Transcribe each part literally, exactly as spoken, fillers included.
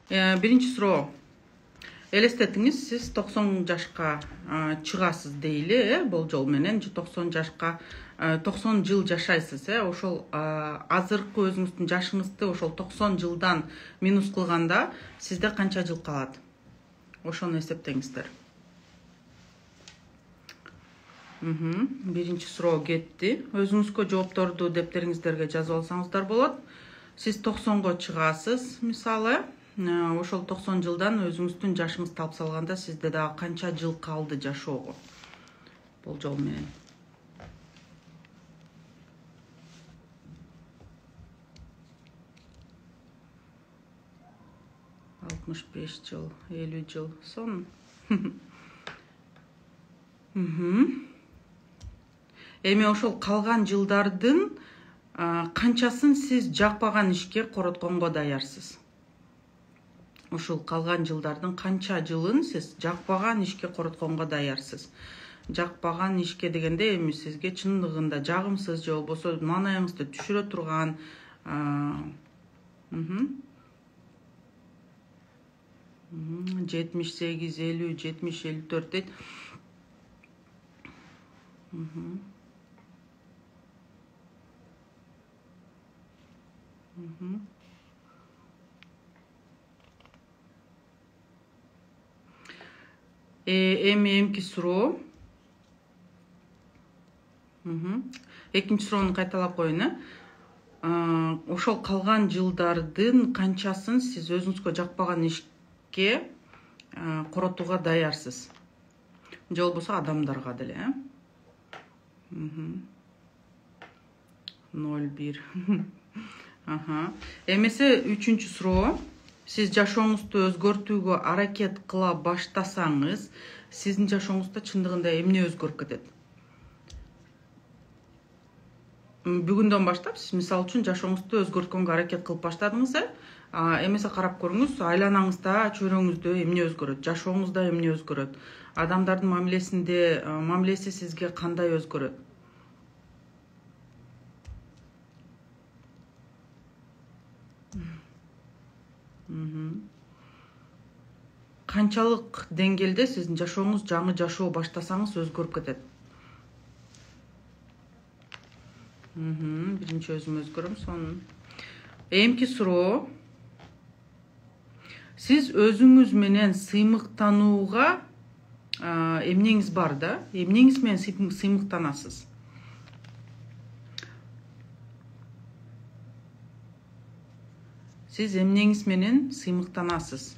Биринчи суроо. Элестетиңиз, сиз токсон жашка чыгасыз дейли, э, болжол менен токсон жашка токсон жыл жашайсыз, э. Ошол азыркы өзүңүздүн жашыңызды ошол токсон жылдан минус кылганда сизде канча жыл калат? Ошону эсептеңиздер. Биринчи суроо кетти. Өзүңүзгө жоопторду дептериңиздерге жазып алсаңыздар болот. Сиз токсонго чыгасыз, мисалы. Ошол токсон жылдан өзүңүздүн жашыңызды алып салганда сизде дагы канча жыл калды жашоого? Болжол менен. алтымыш беш жыл, элүү жыл сон. Эми ошол калган жылдардын канчасын сиз жакпаган ишке коротконго даярсыз? Ушул калган жылдардын канча жылын сиз жакпаган ишке коротконго даярсыз? Жакпаган ишке дегенде эми сизге чындыгында жагымсыз же болбосо маанайыңызды түшүрө турган жетимиш сегиз, элүү, жетимиш, элүү төрт дейт. Эми эмки суроо. Экинчи суроону кайталап коеюн, э. Ошол калган жылдардын канчасын сиз өзүңүзгө жакпаган ишке коротууга даярсыз? Же болбосо адамдарга деле, э? ноль бир. Эмесе үчүнчү суроо. Сиз жашооңузду өзгөртүүгө аракет кыла баштасаңыз, сиздин жашооңузда чындыгында эмне өзгөрүп кетет? Бүгүндөн баштап сиз мисалы үчүн жашооңузду өзгөрткөнгө аракет кылып баштадыңыз, э? Эмесе карап көрүңүз, айланаңызда, чөйрөңүздө эмне өзгөрөт? Жашооңузда эмне өзгөрөт? Адамдардын мамилесинде, мамилеси сизге кандай өзгөрөт? Канчалык деңгээлде сиздин жашооңуз жаңы жашоо баштасаңыз өзгөрүп кетет? Биринчи өзүм өзгөрөм, сонун. Эмки суроо. Сиз өзүңүз менен сыймыктанууга эмнеңиз бар да? Эмнеңиз менен сыймыктанасыз? Сиз эмнеңиз менен сыймыктанасыз?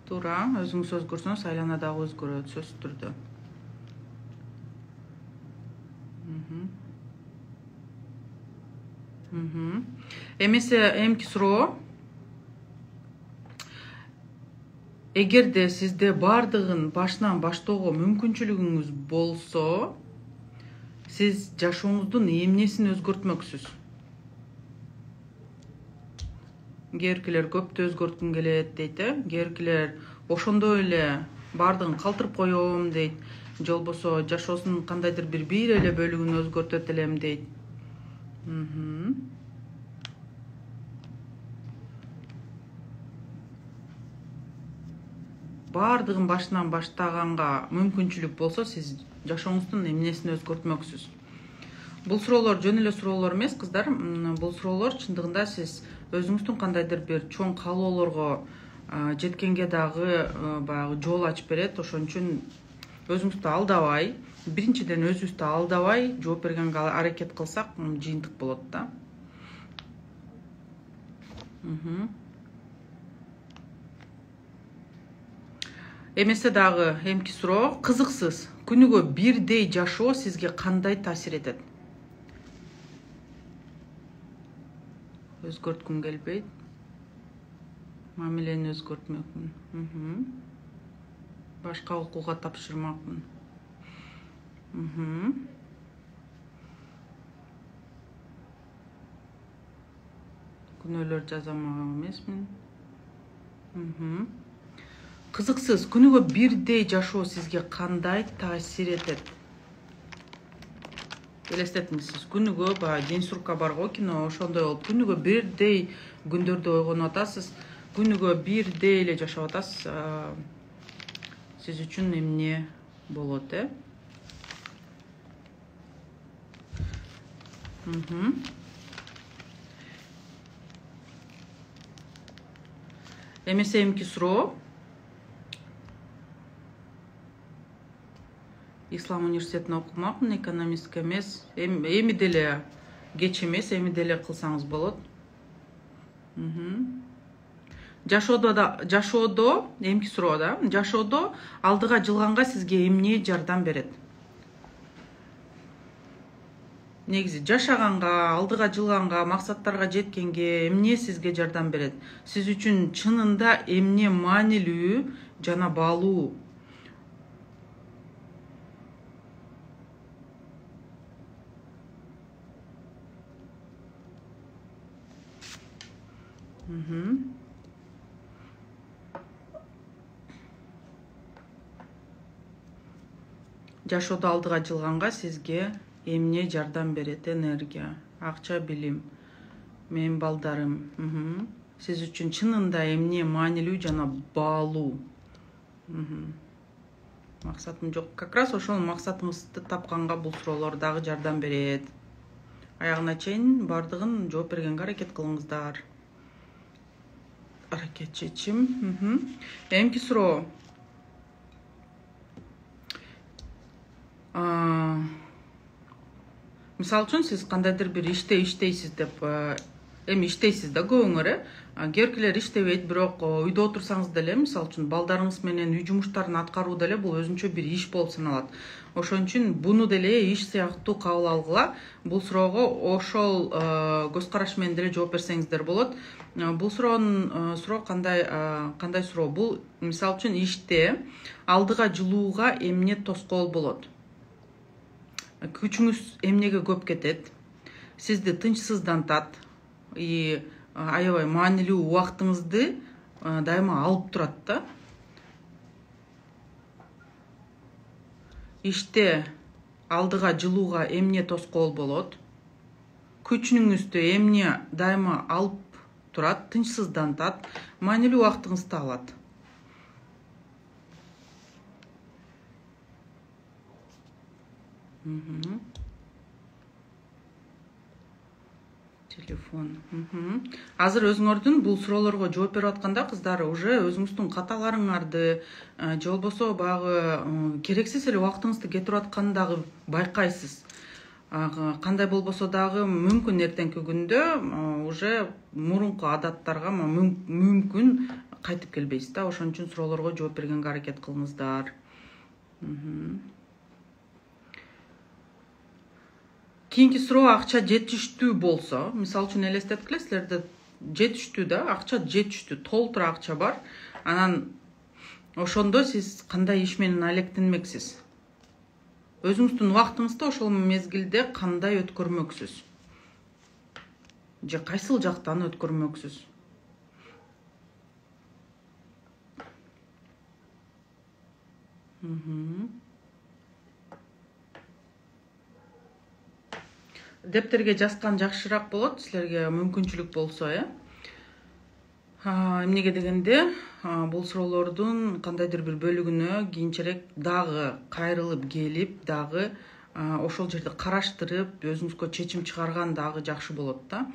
Туура, өзүңүз өзгөрсөңүз айлана дагы өзгөрөт, сөзсүз түрдө. Эмесе эмки суроо. Эгерде сизде бардыгын башынан баштоого мүмкүнчүлүгүңүз болсо, сиз жашооңуздун эмнесин өзгөртмөксүз? Кээбиркилер көптү өзгөрткүм келет дейт, э? Кээбиркилер ошондой эле бардыгын калтырып коем дейт. Же болбосо жашоосунун кандайдыр бир бир эле бөлүгүн өзгөртөт элем дейт. Бардыгын башынан баштаганга мүмкүнчүлүк болсо, сиз жашооңуздун эмнесин өзгөртмөксүз? Бул суроолор жөн эле суроолор эмес, кыздар. Бул суроолор чындыгында сиз өзүңүздүн кандайдыр бир чоң каалоолорго жеткенге дагы баягы жол ачып берет. Ошон үчүн өзүңүздү алдабай, биринчиден өзүбүздү алдабай жооп бергенге аракет кылсак, жыйынтык болот да. Эмесе дагы эмки суроо. Кызыксыз, күнүгө бирдей жашоо сизге кандай таасир этет? Өзгөрткүм келбейт. Мамилени өзгөртмөкмүн. Башка окууга тапшырмакмын. Күнөөлөр жаза алмак эмесмин. кызыксыз, күнүгө бирдей жашоо сизге кандай таасир этет? Элестетиңиз, күнүгө баягы день сурка бар го кино, ошондой болуп күнүгө бирдей күндөрдө ойгонуп атасыз, күнүгө бирдей эле жашап атасыз. Сиз үчүн эмне болот, э? Эмесе эмки суроо. Ислам университетине окумакмын, экономистка эмес. Эми деле кеч эмес, эми деле кылсаңыз болот. Жашоодо да, жашоодо, эмки суроо да. Жашоодо алдыга жылганга сизге эмне жардам берет? Негизи жашаганга, алдыга жылганга, максаттарга жеткенге эмне сизге жардам берет? Сиз үчүн чынында эмне маанилүү жана баалуу? Жашоодо алдыга жылганга сизге эмне жардам берет? Энергия, акча, билим, менин балдарым. Сиз үчүн чынында эмне маанилүү жана баалуу? Максатым жок. Как раз ошол максатыңызды тапканга бул суроолор дагы жардам берет. Аягына чейин бардыгын жооп бергенге аракет кылыңыздар. Аракет чечим. Эмки суроо. Мисалы үчүн сиз кандайдыр бир иште иштейсиз деп, эми иштейсиз да көбүңөр, э? Кээбиркилер иштебейт, бирок үйдө отурсаңыз деле, мисалы үчүн балдарыңыз менен үй жумуштарын аткаруу деле бул өзүнчө бир иш болуп саналат. Ошон үчүн буну деле иш сыяктуу кабыл алгыла. Бул суроого ошол көз караш менен деле жооп берсеңиздер болот. Бул суроонун суроо кандай кандай суроо? Бул мисалы үчүн иште алдыга жылууга эмне тоскоол болот? Күчүңүз эмнеге көп кетет? Сизди тынчсыздантат и аябай маанилүү убактыңызды дайыма алып турат да. Иште алдыга жылууга эмне тоскоол болот? Күчүңүздү эмне дайыма алып турат, тынчсыздантат, маанилүү убактыңызды алат? Телефон. Азыр өзүңөрдүн бул суроолорго жооп берип атканда кыздар уже өзүңүздүн каталарыңарды же болбосо баягы керексиз эле убактыңызды кетирип атканын дагы байкайсыз. Кандай болбосо дагы мүмкүн эртеңки күндө уже мурунку адаттарга мүмкүн кайтып келбейсиз да. Ошон үчүн суроолорго жооп бергенге аракет кылыңыздар. Кийинки суроо, акча жетиштүү болсо, мисалы үчүн элестеткиле, силерде жетиштүү да, акча жетиштүү, толтура акча бар. Анан ошондо сиз кандай иш менен алектенмексиз? Өзүңүздүн убактыңызды ошол мезгилде кандай өткөрмөксүз? Же кайсыл жактан өткөрмөксүз? Дептерге жазган жакшыраак болот, силерге мүмкүнчүлүк болсо, э? Эмнеге дегенде, бул суроолордун кандайдыр бир бөлүгүнө кийинчерээк дагы кайрылып келип, дагы ошол жерде караштырып, өзүңүзгө чечим чыгарган дагы жакшы болот да.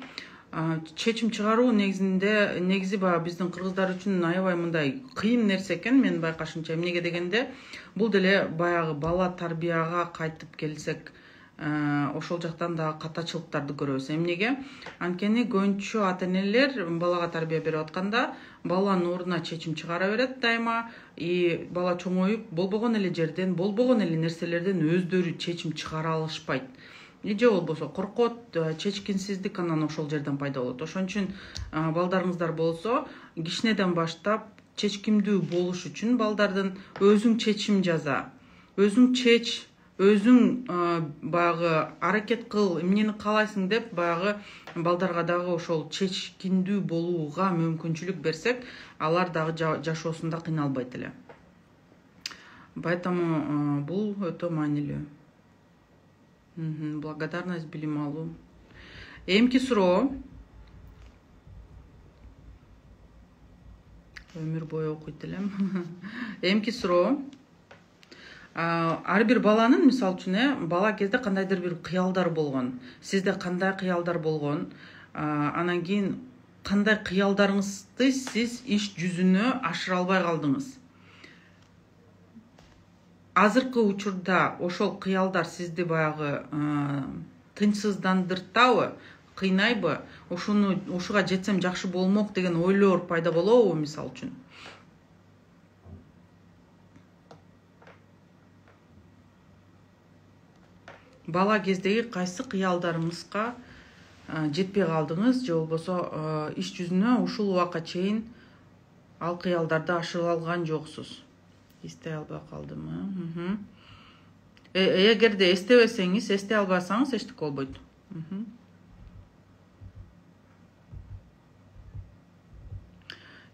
Чечим чыгаруу негизинде, негизи баягы биздин кыргыздар үчүн аябай мындай кыйын нерсе экен, менин байкашымча. Эмнеге дегенде, бул деле баягы бала тарбияга кайтып келсек, ошол жактан дагы катачылыктарды көрөбүз. Эмнеге? Анткени көбүнчө ата-энелер балага тарбия берип атканда баланын ордуна чечим чыгара берет дайыма, и бала чоңоюп болбогон эле жерден, болбогон эле нерселерден өздөрү чечим чыгара алышпайт. Же болбосо коркот, чечкинсиздик анан ошол жерден пайда болот. Ошон үчүн балдарыңыздар болсо, кичинеден баштап чечкимдүү болуш үчүн балдардын өзүң чечим жаза, өзүң чеч, өзүң баягы аракет кыл, эмнени каалайсың деп баягы балдарга дагы ошол чечкиндүү болууга мүмкүнчүлүк берсек, алар дагы жашоосунда кыйналбайт эле. Поэтому бул өтө маанилүү. Благодарность, билим алуу. Эмки суроо. Өмүр бою окуйт элем. Эмки суроо. Ар бир баланын, мисалы үчүн, бала кезде кандайдыр бир кыялдар болгон. Сизде кандай кыялдар болгон? Анан кийин кандай кыялдарыңызды сиз иш жүзүнө ашыра албай калдыңыз? Азыркы учурда ошол кыялдар сизди баягы тынчсыздандыртабы, кыйнайбы? Ошону ушуга жетсем жакшы болмок деген ойлор пайда болобу, мисалы үчүн? Бала кездеги кайсы кыялдарыңызга жетпей калдыңыз, же болбосо иш жүзүнө ушул убакка чейин ал кыялдарды ашыра алган жоксуз? Эстей албай калдымы? Эгерде эстебесеңиз, эстей албасаңыз эчтеке болбойт.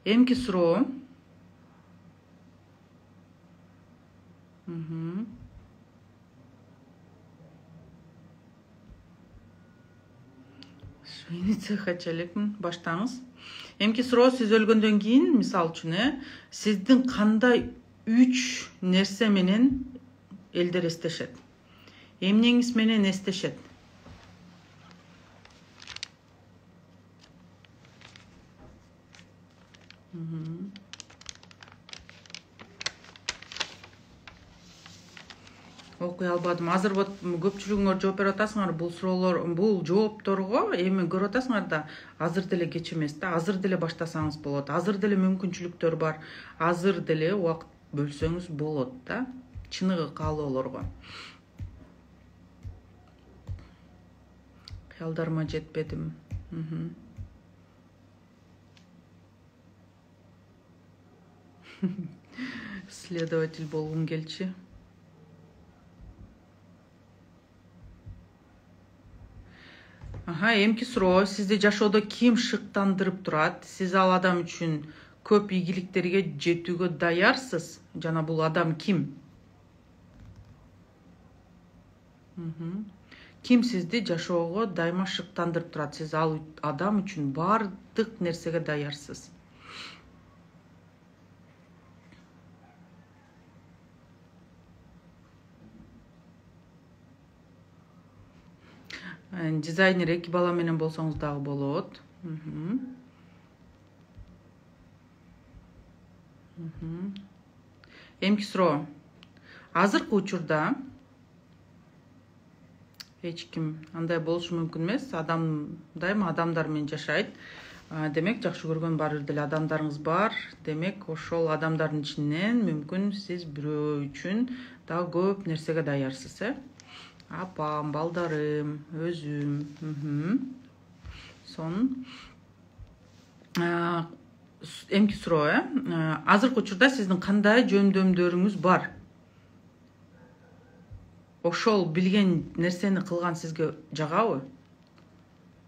Эмки суроо. Хочу элекмин, баштаңыз. Эмки суроо, сиз өлгөндөн кийин, мисалы үчүн, сиздин кандай үч нерсе менен элдер эстешет? Эмнеңиз менен эстешет? Окуй албадым. Азыр вот көпчүлүгүңөр жооп берип атасыңар, бул суроолор, бул жоопторго эми көрүп атасыңар да, азыр деле кеч эмес да, азыр деле баштасаңыз болот, азыр деле мүмкүнчүлүктөр бар, азыр деле убакыт бөлсөңүз болот да, чыныгы каалоолорго. Кыялдарыма жетпедим. Следователь болгум келчи. Ага, эмки суроо, сизди жашоодо ким шыктандырып турат? Сиз ал адам үчүн көп ийгиликтерге жетүүгө даярсыз? Жана бул адам ким? Ким сизди жашоого дайыма шыктандырып турат? Сиз ал адам үчүн бардык нерсеге даярсыз. Дизайнер эки бала менен болсоңуз дагы болот. Эмки суроо. Азыркы учурда эч ким андай болушу мүмкүн эмес. Адам дайыма адамдар менен жашайт. Демек, жакшы көргөн бир деле адамдарыңыз бар. Демек, ошол адамдардын ичинен мүмкүн сиз бирөө үчүн дагы көп нерсеге даярсыз, э? Апам, балдарым, өзүм. Сон. Эмки суроо, э? Азыркы учурда сиздин кандай жөндөмдөрүңүз бар? Ошол билген нерсени кылган сизге жагабы?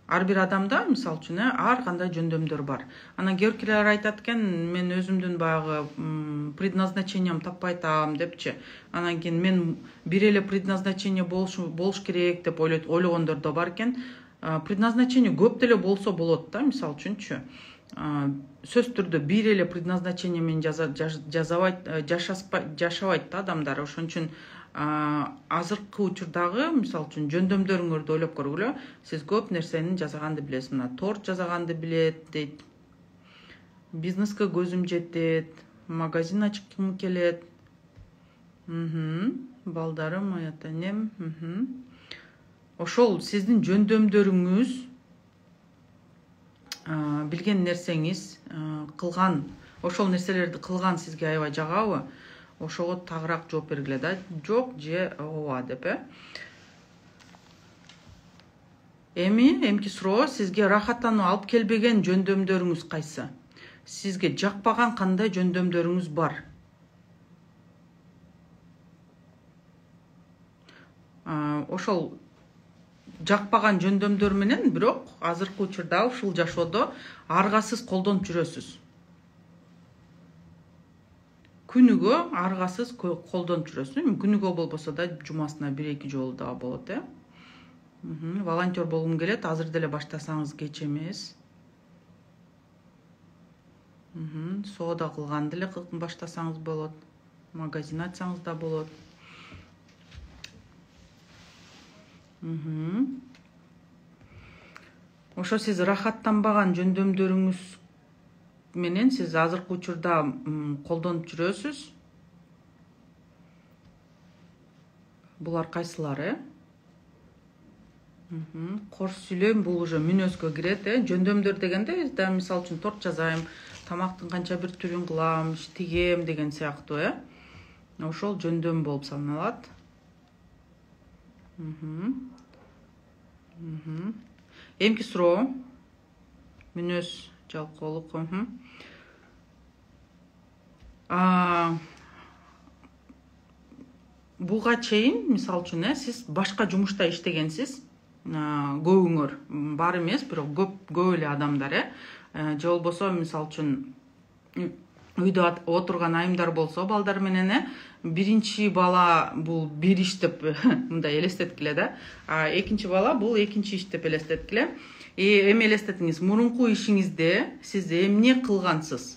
Ар бир адамда, мисалы үчүн, ар кандай жөндөмдөр бар. Анан кээ биркилер айтат экен, мен өзүмдүн баягы предназначением таппай атам депчи. Анан кийин мен бир эле предназначение болуш болуш керек деп ойлойт, ойлогондор да бар экен. Предназначение көп деле болсо болот да, мисалы үчүнчү. Сөз түрдө бир эле предназначение менен жазабайт, жашабайт да адамдар. Ошон үчүн азыркы учурдагы, мисалы үчүн, жөндөмдөрүңөрдү ойлоп көргүлө. Сиз көп нерсени жасаганды билесиз. Мына торт жасаганды билет дейт. Бизнеске көзүм жетет, магазин ачкым келет. Балдарым, ата энем. Ошол сиздин жөндөмдөрүңүз, билген нерсеңиз, кылган, ошол нерселерди кылган сизге аябай жагабы? Ошого тагыраак жооп бергиле да. Жок же ооба деп, э? Эми, эмки суроо, сизге рахаттануу алып келбеген жөндөмдөрүңүз кайсы? Сизге жакпаган кандай жөндөмдөрүңүз бар? ошол жакпаган жөндөмдөр менен бирок азыркы учурда ушул жашоодо аргасыз колдонуп жүрөсүз. Күнүгө аргасыз колдонуп жүрөсүз. Күнүгө болбосо да жумасына бир эки жолу да болот, э. Волонтер болгум келет, азыр деле баштасаңыз кеч эмес. Соода кылган деле баштасаңыз болот. Магазин ачсаңыз да болот. Ошо сиз рахаттанбаган жөндөмдөрүңүз менен сиз азыркы учурда колдонуп жүрөсүз. Булар кайсылары? Корс сүйлөм бул уже мүнөзгө кирет, э. Жөндөмдөр дегенде да мисалы үчүн торт жазайм, тамактын канча бир түрүн кылам, тигем деген сыяктуу, э. Ошол жөндөм болуп саналат. Эмки суроо. Мүнөз жалкоолук. Буга чейин мисалы үчүн, э, сиз башка жумушта иштегенсиз. Көбүңөр, бар эмес, бирок көп көп эле адамдар, э. Же болбосо мисалы үчүн үйдө отурган айымдар болсо балдар менен, э, биринчи бала бул бир иш деп мындай элестеткиле да. А экинчи бала бул экинчи иш деп элестеткиле. И эми элестетиңиз, мурунку ишиңизде сиз эмне кылгансыз?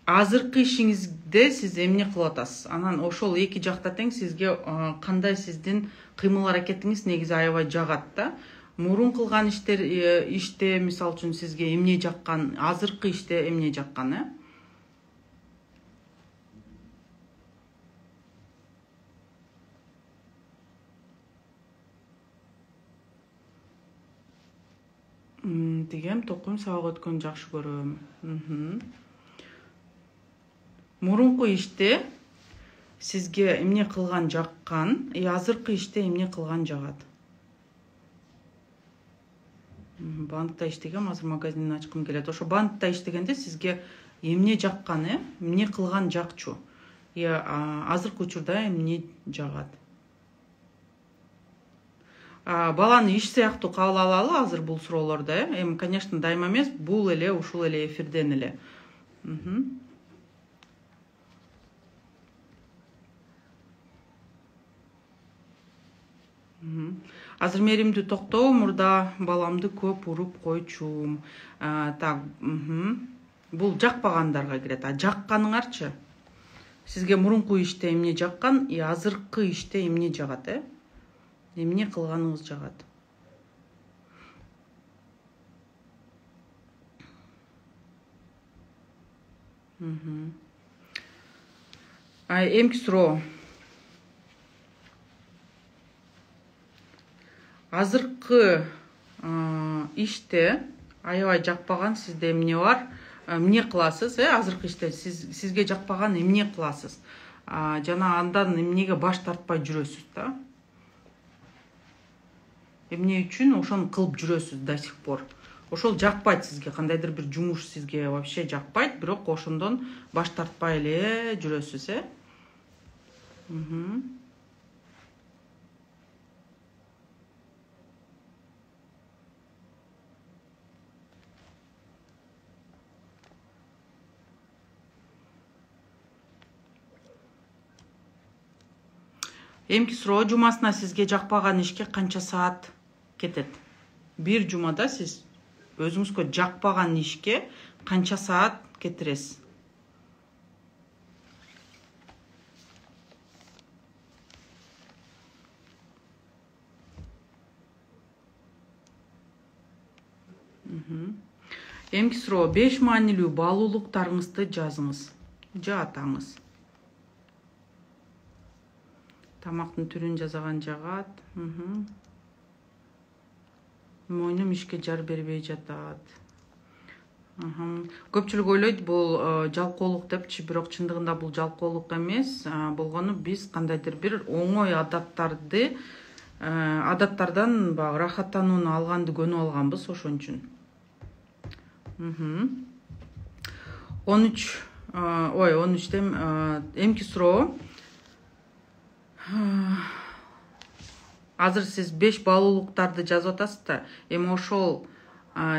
Азыркы ишиңизде сиз эмне кылып атасыз? Анан ошол эки жакта тең сизге кандай сиздин кыймыл аракетиңиз негизи аябай жагат да. Мурун кылган иштер иште мисалы үчүн сизге эмне жаккан, азыркы иште эмне жаккан, э? Тигем, токуйм, сабак өткөнү жакшы көрөм. Мурунку иште сизге эмне кылган жаккан, и азыркы иште эмне кылган жагат? Банкта иштегем, азыр магазин ачкым келет. Ошо банкта иштегенде сизге эмне жаккан, э? Эмне кылган жакчу? И азыркы учурда эмне жагат? Баланы иш сыяктуу кабыл алалы азыр бул суроолорду, э? Эми, конечно, дайыма эмес, бул эле, ушул эле эфирден эле. Азыр меримди токтоо, мурда баламды көп уруп койчумун. Так, бул жакпагандарга кирет. А жакканыңарчы? Сизге мурунку иште эмне жаккан, и азыркы иште эмне жагат, э? Эмне кылганыңыз жагат? Эмки суроо. Азыркы иште аябай жакпаган сизде эмне бар? Эмне кыласыз, э? Азыркы иште сизге жакпаган эмне кыласыз? Жана андан эмнеге баш тартпай жүрөсүз да? Эмне үчүн ошону кылып жүрөсүз до сих пор? Ошол жакпайт сизге, кандайдыр бир жумуш сизге вообще жакпайт, бирок ошондон баш тартпай эле жүрөсүз, э? Эмки суроо, жумасына сизге жакпаган ишке канча саат кетет? Бир жумада сиз өзүңүзгө жакпаган ишке канча саат кетиресиз? Эмки суроо, беш маанилүү баалуулуктарыңызды жазыңыз. Жатаңыз. Тамактын түрүн жазаган жагат. Мойнум ишке жар бербей жатат. Көпчүлүк ойлойт бул жалкоолук депчи, бирок чындыгында бул жалкоолук эмес. Болгону биз кандайдыр бир оңой адаттарды, адаттардан баягы рахаттанууну алганды көнүп алганбыз, ошон үчүн. он үч, ой, он үчтөн эмки суроо. азыр сиз беш баалуулуктарды жазып атасыз да, эми ошол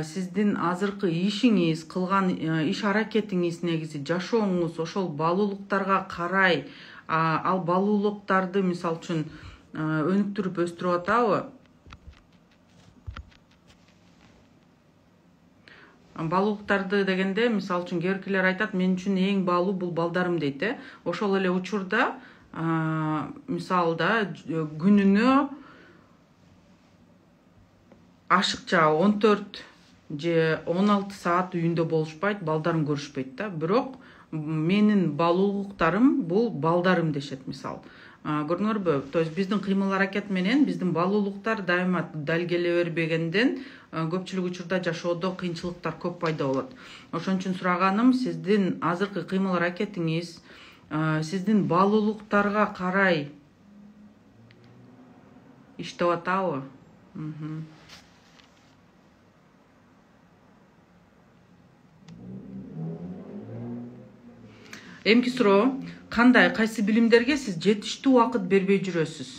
сиздин азыркы ишиңиз, кылган иш аракетиңиз, негизи жашооңуз ошол баалуулуктарга карай ал баалуулуктарды мисалы үчүн өнүктүрүп өстүрүп атабы? Баалуулуктарды дегенде, мисалы үчүн кээ биркилер айтат, мен үчүн эң баалуу бул балдарым дейт, э. Ошол эле учурда мисалда күнүнө ашыкча он төрт же он алты саат үйүндө болушпайт, балдарын көрүшпөйт да. Бирок менин баалуулуктарым бул балдарым дешет, мисалы. Көрдүңөрбү? То есть биздин кыймыл аракет менен биздин баалуулуктар дайыма дал келе бербегенден көпчүлүк учурда жашоодо кыйынчылыктар көп пайда болот. Ошон үчүн сураганым, сиздин азыркы кыймыл аракетиңиз сиздин баалуулуктарга карай иштеп атабы? Эмки суроо, кандай, кайсы билимдерге сиз жетиштүү убакыт бербей жүрөсүз?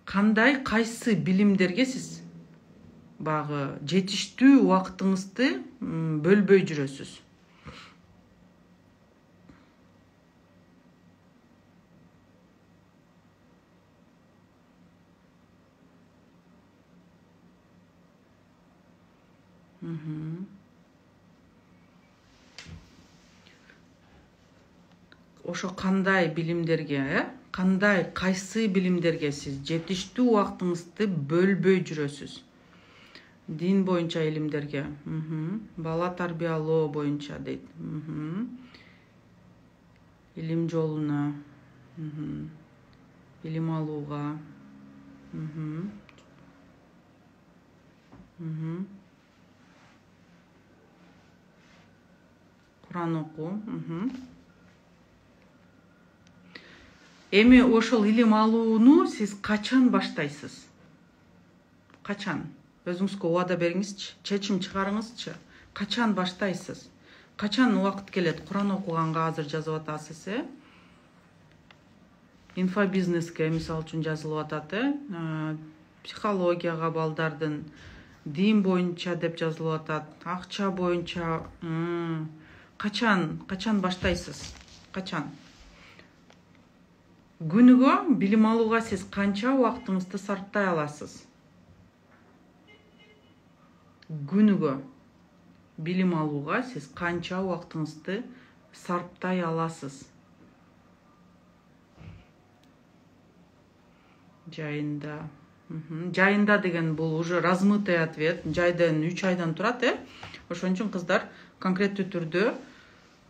Кандай, кайсы билимдерге сиз багы жетиштүү убакытыңызды бөлбөй жүрөсүз? Ошо кандай билимдерге, э? Кандай, кайсы билимдерге сиз жетиштүү убактыңызды бөлбөй жүрөсүз? Дин боюнча илимдерге, бала тарбиялоо боюнча дейт. Илим жолуна, илим алууга. Куран окуу. Эми ошол илим алууну сиз качан баштайсыз? Качан? Өзүңүзгө убада бериңизчи, чечим чыгарыңызчы. Качан баштайсыз? Качан убакыт келет? Куран окуганга азыр жазып атасыз, э? Инфобизнеске мисалы үчүн жазылып атат, э? Психологияга балдардын, дин боюнча деп жазылып атат, акча боюнча. Качан, качан баштайсыз? Качан? Күнүгө билим алууга сиз канча убактыңызды сарптай аласыз? Күнүгө билим алууга сиз канча убактыңызды сарптай аласыз? Жайында. Жайында деген бул уже размытый ответ. Жайдан үч айдан турат, э? Ошон үчүн кыздар конкреттүү түрдө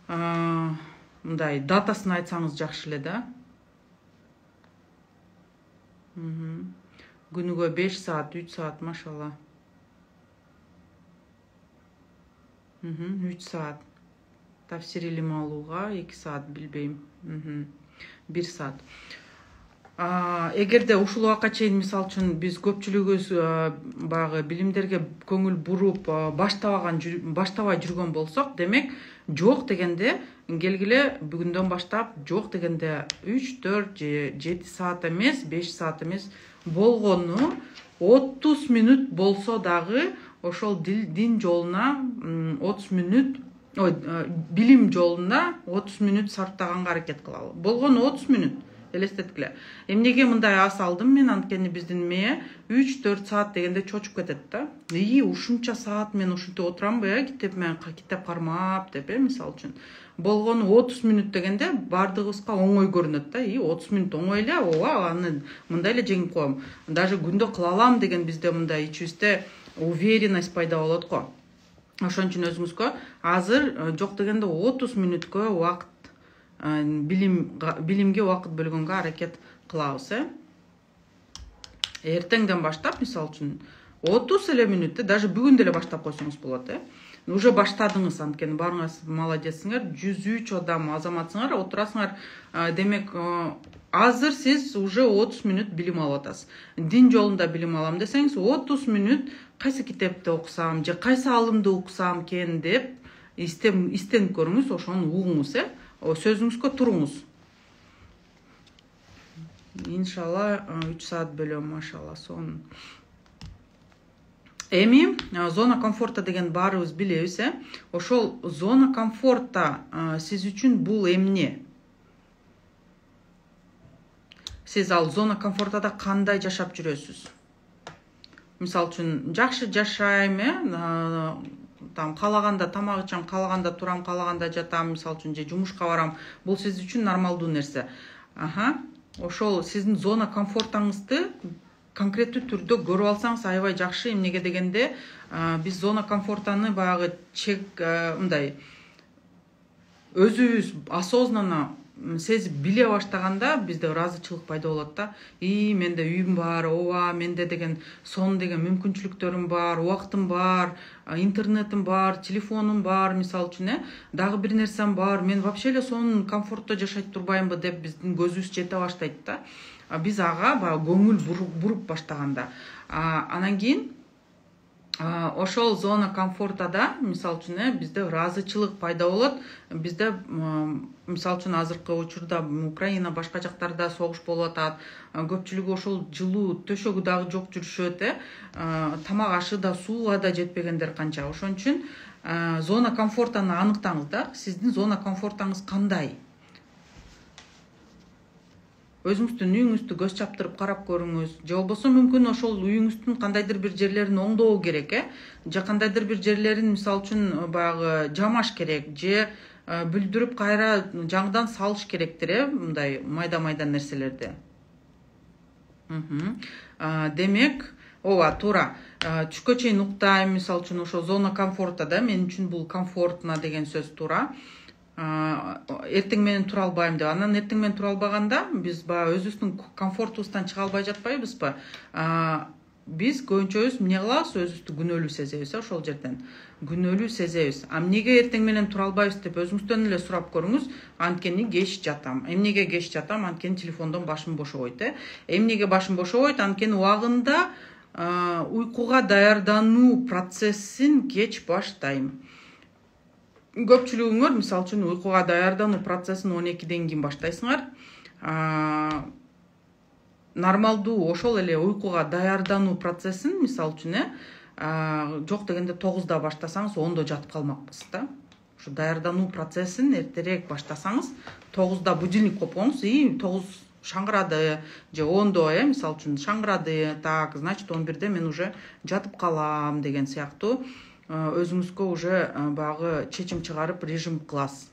мындай датасын айтсаңыз жакшы эле да. Күнүгө беш саат, үч саат, машалла. үч саат. Тафсир илим алууга эки саат, билбейм. бир саат. Эгерде ушул убакка чейин мисалы үчүн биз көпчүлүгүбүз баягы билимдерге көңүл буруп баштабаган баштабай жүргөн болсок, демек жок дегенде келгиле бүгүндөн баштап жок дегенде үч, төрт же жети саат эмес, беш саат эмес, болгону отуз мүнөт болсо дагы ошол дин жолуна отуз мүнөт, ой, билим жолуна отуз мүнөт сарптаганга аракет кылалы. Болгону отуз мүнөт. Элестеткиле. Эмнеге мындай ас алдым мен, анткени биздин мээ үч төрт саат дегенде чочуп кетет да. И ушунча саат мен ушинтип отурамбы, э, китеп менен китеп кармап деп, э, мисалы үчүн. Болгону отуз мүнөт дегенде бардыгыбызга оңой көрүнөт да. И отуз мүнөт оңой эле, ооба, аны мындай эле жеңип коем. Даже күндө кыла алам деген бизде мындай ичибизде уверенность пайда болот го. Ошон үчүн өзүңүзгө азыр жок дегенде отуз мүнөткө убакыт билим билимге убакыт бөлгөнгө аракет кылабыз, э? Эртеңден баштап, мисалы үчүн, отуз эле мүнөттө, даже бүгүн деле баштап койсоңуз болот, э? Уже баштадыңыз, анткени баарыңыз молодецсиңер, жүз үч адам азаматсыңар, отурасыңар. Демек, азыр сиз уже отуз мүнөт билим алып атасыз. Дин жолунда билим алам десеңиз, отуз мүнөт кайсы китепти окусам же кайсы алымды окусам экен деп истенип көрүңүз, ошону угуңуз, э? Сөзүңүзгө туруңуз. иншалла үч саат бөлөм, машалла, сонун. Эми зона комфорта деген баарыбыз билебиз, э? Ошол зона комфорта сиз үчүн бул эмне? Сиз ал зона комфортада кандай жашап жүрөсүз? Мисалы үчүн жакшы жашайм, э? Там каалаганда тамак ичем, каалаганда турам, каалаганда жатам, мисалы үчүн же жумушка барам. Бул сиз үчүн нормалдуу нерсе. Аха. Ошол сиздин зона комфортаңызды конкреттүү түрдө көрүп алсаңыз аябай жакшы. Эмнеге дегенде, биз зона комфортаны баягы чек мындай өзүбүз осознанно сезип биле баштаганда бизде ыраазычылык пайда болот да. И менде үйүм бар, ооба, менде деген сонун деген мүмкүнчүлүктөрүм бар, убактым бар, интернетим бар, телефонум бар, мисалы үчүн, э, дагы бир нерсем бар. Мен вообще эле сонун комфортто жашайт турбаймбы деп биздин көзүбүз жете баштайт да. Биз ага баягы көңүл буруп баштаганда. Анан кийин ошол зона комфортада, мисалы үчүн, бизде ыраазычылык пайда болот. Бизде, мисалы үчүн, азыркы учурда Украина, башка жактарда согуш болуп атат. Көпчүлүгү ошол жылуу төшөгү дагы жок жүрүшөт, э. Тамак ашы да, сууга да жетпегендер канча. Ошон үчүн зона комфортаны аныктаңыз да. Сиздин зона комфортаңыз кандай? Өзүңүздүн үйүңүздү көз чаптырып карап көрүңүз. Же болбосо мүмкүн ошол үйүңүздүн кандайдыр бир жерлерин оңдоо керек, э? Же кандайдыр бир жерлерин, мисалы үчүн, баягы жамаш керек, же бүлдүрүп кайра жаңыдан салыш керектир, э? Мындай майда-майда нерселерди. Демек, ооба, туура. Түшкө чейин уктайм, мисалы үчүн, ошо зона комфорта да. Мен үчүн бул комфортно деген сөз туура. Эртең менен тура албайм деп. Анан эртең менен тура албаганда биз баягы өзүбүздүн комфортубуздан чыга албай жатпайбызбы? Биз көбүнчөбүз эмне кылабыз? Өзүбүздү күнөөлүү сезебиз, ошол жерден. Күнөөлүү сезебиз. А эмнеге эртең менен тура албайбыз деп өзүңүздөн эле сурап көрүңүз. Анткени кеч жатам. Эмнеге кеч жатам? Анткени телефондон башым бошобойт, э? Эмнеге башым бошобойт? Анткени убагында уйкуга даярдануу процессин кеч баштайм. Көпчүлүгүңөр, мисалы үчүн, уйкуга даярдануу процессин он экиден кийин баштайсыңар. Нормалдуу ошол эле уйкуга даярдануу процессин, мисалы үчүн, э, жок дегенде тогузда баштасаңыз, ондо жатып калмакпыз да. Ошо даярдануу процессин эртерээк баштасаңыз, тогузда будильник копкоңуз, и тогуз шаңгырады, же ондо, э, мисалы үчүн, шаңгырады, так, значит, он бирде мен уже жатып калам деген сыяктуу өзүңүзгө уже баягы чечим чыгарып режим кыласыз.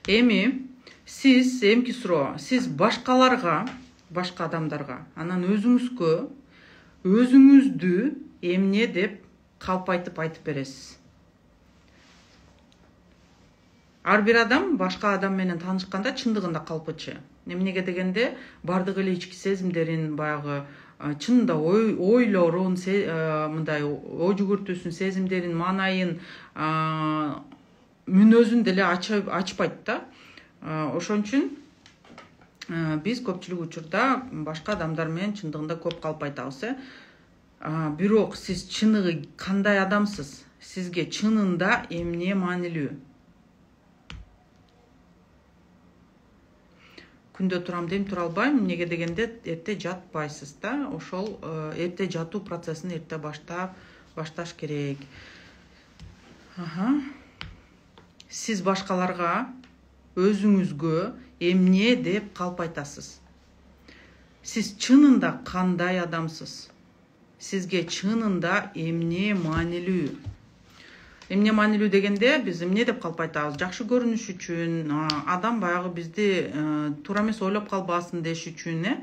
Эми сиз эмки суроо, сиз башкаларга, башка адамдарга, анан өзүңүзгө өзүңүздү эмне деп калпайтып айтып бересиз? Ар бир адам башка адам менен таанышканда чындыгында калпычы. Эмнеге дегенде, бардык эле ички сезимдерин, баягы чынында ойлорун, мындай ой жүгүртүүсүн, сезимдерин, маанайын, мүнөзүн деле ачпайт да. Ошон үчүн биз көпчүлүк учурда башка адамдар менен чындыгында көп калп айтабыз, э? Бирок сиз чыныгы кандай адамсыз? Сизге чынында эмне маанилүү? Күндө турам дейм, тура албайм. Эмнеге дегенде, эрте жатпайсыз да. Ошол эрте жатуу процессин эрте баштап башташ керек. Аха. Сиз башкаларга өзүңүзгө эмне деп калп айтасыз? Сиз чынында кандай адамсыз? Сизге чынында эмне маанилүү? Эмне маанилүү дегенде, биз эмне деп калп айтабыз? Жакшы көрүнүш үчүн, адам баягы бизди туура эмес ойлоп калбасын деш үчүн, э?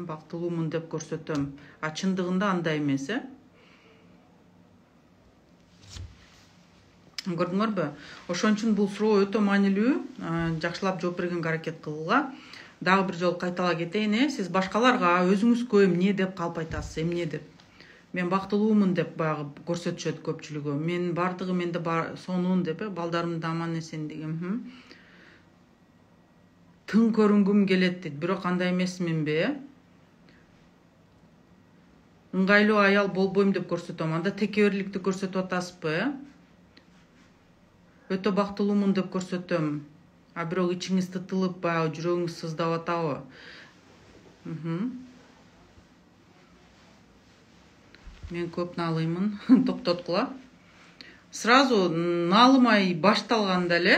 Бактылуумун деп көрсөтөм. А чындыгында андай эмес, э? Көрдүңөрбү? Ошон үчүн бул суроо өтө маанилүү. Жакшылап жооп бергенге аракет кылгыла. Дагы бир жолу кайтала кетейин, э? Сиз башкаларга өзүңүзгө эмне деп калп айтасыз? Эмне деп? Мен бактылуумун деп баягы көрсөтүшөт көпчүлүгү. Мен бардыгы менде сонун деп, э? Балдарым да аман эсен деген. Тың көрүнгүм келет дейт. Бирок андай эмесминби, э? ыңгайлуу аял болбойм деп көрсөтөм. Анда текеберликти көрсөтүп атасызбы, э? Өтө бактылуумун деп көрсөтөм. А бирок ичиңиз тытылып, баягы жүрөгүңүз сыздап атабы? Мен көп наалыймын. Токтоткула. Сразу наалымай башталганда эле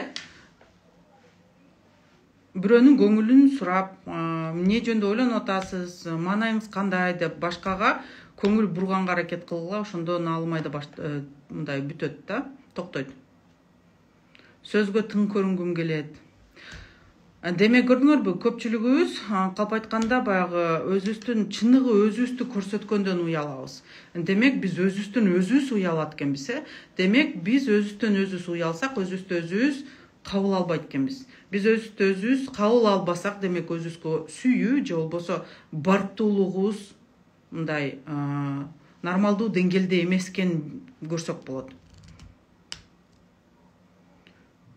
бирөөнүн көңүлүн сурап, эмне жөнүндө ойлонуп атасыз, маанайыңыз кандай деп башкага көңүл бурганга аракет кылгыла, ошондо наалымай да мындай бүтөт да, токтойт. Сөзгө тың көрүнгүм келет. Демек көрдүңөрбү, көпчүлүгүбүз калп айтканда баягы өзүбүздүн чыныгы өзүбүздү көрсөткөндөн уялабыз. Демек биз өзүбүздөн өзүбүз уялат экенбиз, э? Демек биз өзүбүздөн өзүбүз уялсак, өзүбүздү өзүбүз кабыл албайт экенбиз. Биз өзүбүздү өзүбүз кабыл албасак, демек өзүбүзгө сүйүү же болбосо барктуулугубуз мындай нормалдуу деңгээлде эмес экенин көрсөк болот.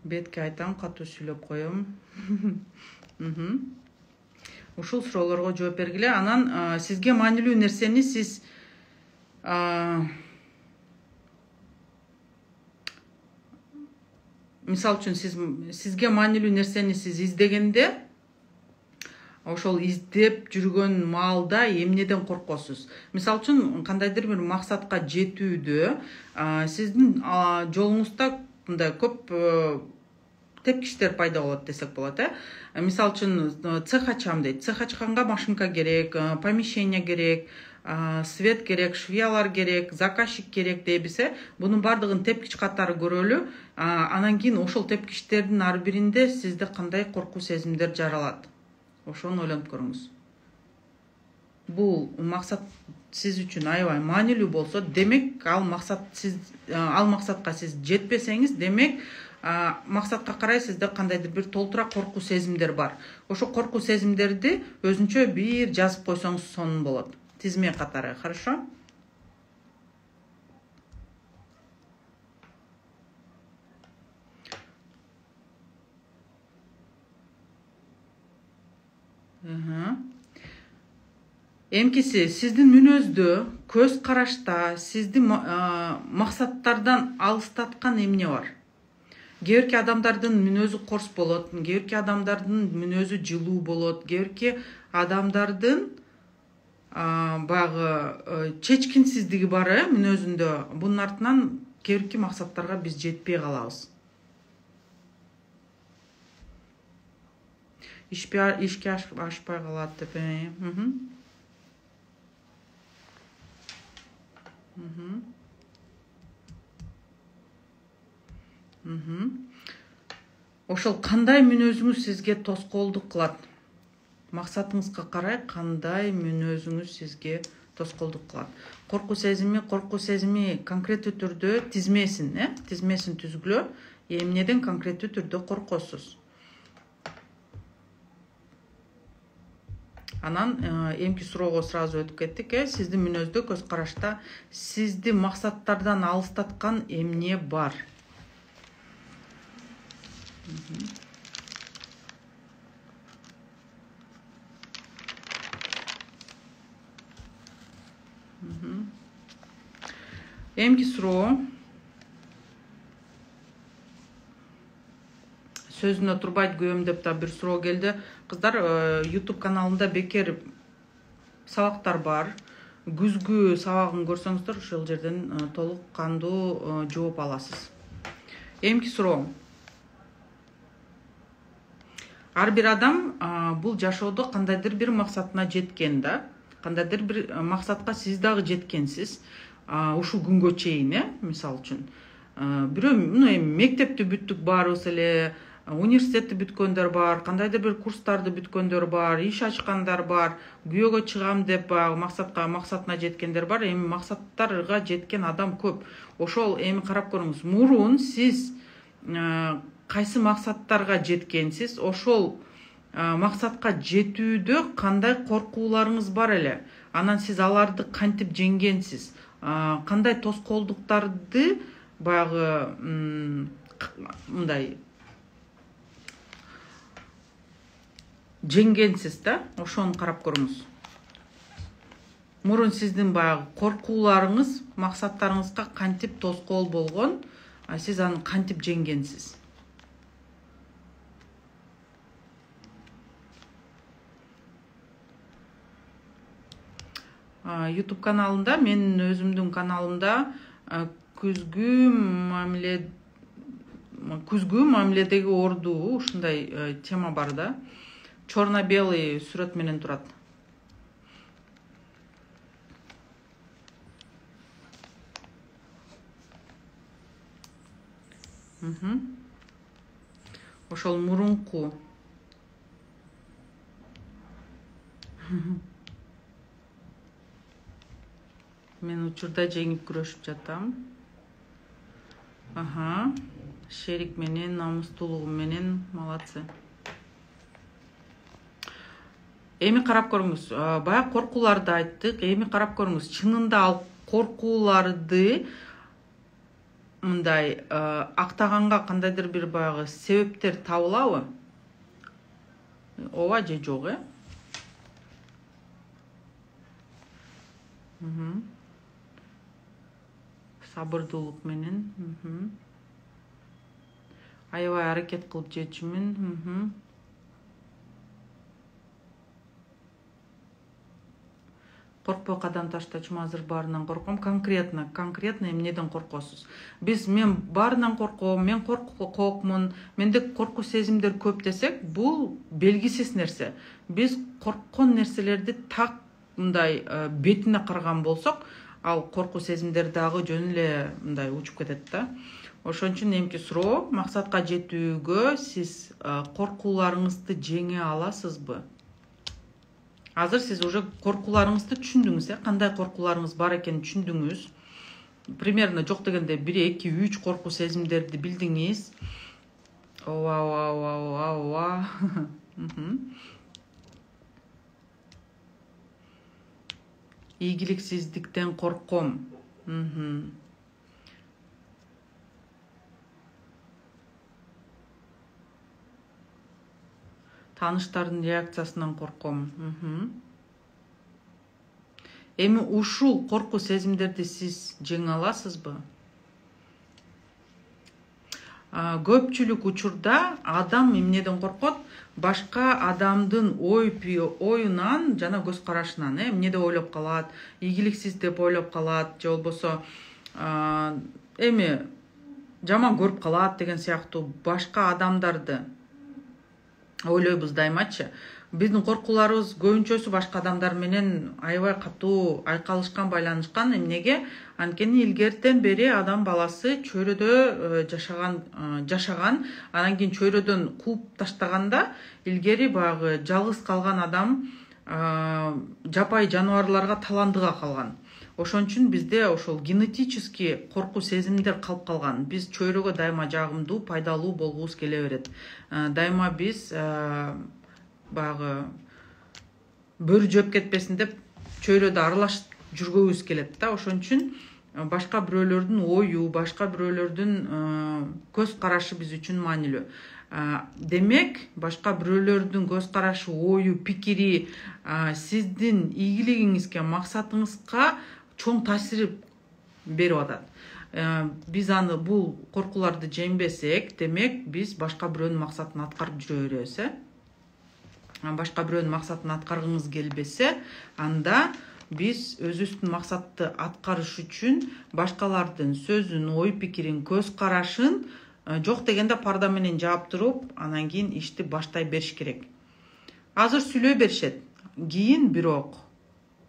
Бетке айтам, катуу сүйлөп коем. Ушул суроолорго жооп бергиле. Анан сизге маанилүү нерсени сиз мисалы үчүн сиз сизге маанилүү нерсени сиз издегенде, ошол издеп жүргөн маалда эмнеден коркосуз? Мисалы үчүн кандайдыр бир максатка жетүүдө сиздин жолуңузда мындай көп тепкичтер пайда болот десек болот, э? Мисалы үчүн цех ачам дейт. Цех ачканга машинка керек, помещение керек, свет керек, швеялар керек, заказчик керек дейбиз, э? Бунун бардыгын тепкич катары көрөлү. Анан кийин ошол тепкичтердин ар биринде сизде кандай коркуу сезимдер жаралат? Ошону ойлонуп көрүңүз. Бул максат сиз үчүн аябай маанилүү болсо, демек ал максат сиз ал максатка сиз жетпесеңиз, демек максатка карай сизде кандайдыр бир толтура коркуу сезимдер бар. Ошо коркуу сезимдерди өзүнчө бир жазып койсоңуз сонун болот. Тизме катары, хорошо? Эмкиси сиздин мүнөздө, көз карашта сизди максаттардан алыстаткан эмне бар? Кээ адамдардын мүнөзү корс болот, кээ адамдардын мүнөзү жылуу болот, кээ адамдардын баягы чечкинсиздиги бар, э, мүнөзүндө. Бунун артынан кээ максаттарга биз жетпей калабыз. Ишке ашпай калат деп. Ошол кандай мүнөзүңүз сизге тоскоолдук кылат? Максатыңызга карай кандай мүнөзүңүз сизге тоскоолдук кылат? Коркуу сезими, коркуу сезими конкреттүү түрдө тизмесин, э? Тизмесин түзгүлө. Эмнеден конкреттүү түрдө коркосуз? Анан эмки суроого сразу өтүп кеттик, э? Сиздин мүнөздө, көз карашта сизди максаттардан алыстаткан эмне бар? Эмки суроо. Сөзүнө турбайт күйөөм деп да бир суроо келди. Кыздар, YouTube каналында бекер сабактар бар. Күзгү сабагын көрсөңүздөр, ошол жерден толук кандуу жооп аласыз. Эмки суроо. Ар бир адам бул жашоодо кандайдыр бир максатына жеткен да. Кандайдыр бир максатка сиз дагы жеткенсиз. Ушул күнгө чейин, э, мисалы үчүн. Бирөө мектепти бүттүк баарыбыз эле, университетти бүткөндөр бар, кандайдыр бир курстарды бүткөндөр бар, иш ачкандар бар, күйөөгө чыгам деп баягы максатка, максатына жеткендер бар. Эми максаттарга жеткен адам көп. Ошол эми карап көрүңүз. Мурун сиз кайсы максаттарга жеткенсиз, ошол максатка жетүүдө кандай коркууларыңыз бар эле? Анан сиз аларды кантип жеңгенсиз? Кандай тоскоолдуктарды баягы мындай жеңгенсиз да? Ошону карап көрүңүз. мурун сиздин баягы коркууларыңыз максаттарыңызга кантип тоскоол болгон, сиз аны кантип жеңгенсиз? YouTube каналында, менин өзүмдүн каналымда күзгү мамиле күзгү мамиледеги ордуу ушундай тема бар да. Черно-белый сүрөт менен турат. Ошол мурунку мен учурда жеңип күрөшүп жатам. Аха, шерик менен, намустуулугум менен, малатсы. Эми карап көрүңүз, баягы коркууларды айттык, эми карап көрүңүз, чынында ал коркууларды мындай актаганга кандайдыр бир баягы себептер табылабы? Ооба же жок, э? Сабырдуулук менен, аябай аракет кылып жетчүмүн. Коркпой кадам таштачумун, азыр баарынан корком. Конкретно, конкретно эмнеден коркосуз? Биз мен баарынан корком, мен коркокмун, менде коркуу сезимдер көп десек, бул белгисиз нерсе. Биз корккон нерселерди так мындай бетине караган болсок, ал коркуу сезимдер дагы жөн эле мындай учуп кетет да. Ошон үчүн эмки суроо, максатка жетүүгө сиз коркууларыңызды жеңе аласызбы? Азыр сиз уже коркууларыңызды түшүндүңүз, э? Кандай коркууларыңыз бар экенин түшүндүңүз. Примерно жок дегенде бир, эки, үч коркуу сезимдерди билдиңиз. Ооба, ооба, ооба, ооба. Ийгиликсиздиктен корком. Тааныштардын реакциясынан корком. Эми ушул коркуу сезимдерди сиз жеңе аласызбы? Көпчүлүк учурда адам эмнеден коркот? Башка адамдын ой оюнан жана көз карашынан, э, эмне деп ойлоп калат, ийгиликсиз деп ойлоп калат, же болбосо эми жаман көрүп калат деген сыяктуу башка адамдарды ойлойбуз дайымачы. Биздин коркууларыбыз көбүнчөсү башка адамдар менен аябай катуу айкалышкан, байланышкан. Эмнеге? Анткени илгертен бери адам баласы чөйрөдө жашаган, жашаган, анан кийин чөйрөдөн кууп таштаганда, илгери баягы жалгыз калган адам жапайы жаныбарларга таландыга калган. Ошон үчүн бизде ошол генетически коркуу сезимдер калып калган. Биз чөйрөгө дайыма жагымдуу, пайдалуу болгубуз келе берет. Дайыма биз баягы бөрү жөөп кетпесин деп чөйрөдө аралашып жүргөбүз келет да. Ошон үчүн башка бирөөлөрдүн ою, башка бирөөлөрдүн көз карашы биз үчүн маанилүү. Демек, башка бирөөлөрдүн көз карашы, ою, пикири сиздин ийгилигиңизге, максатыңызга чоң таасир берип атат. Биз аны бул коркууларды жеңбесек, демек биз башка бирөөнүн максатын аткарып жүрө беребиз, э? Башка бирөөнүн максатын аткаргыңыз келбесе, анда биз өзүбүздүн максатты аткарыш үчүн башкалардын сөзүн, ой пикирин, көз карашын жок дегенде парда менен жаап туруп, анан кийин ишти баштай бериш керек. Азыр сүйлөй беришет, кийин бирок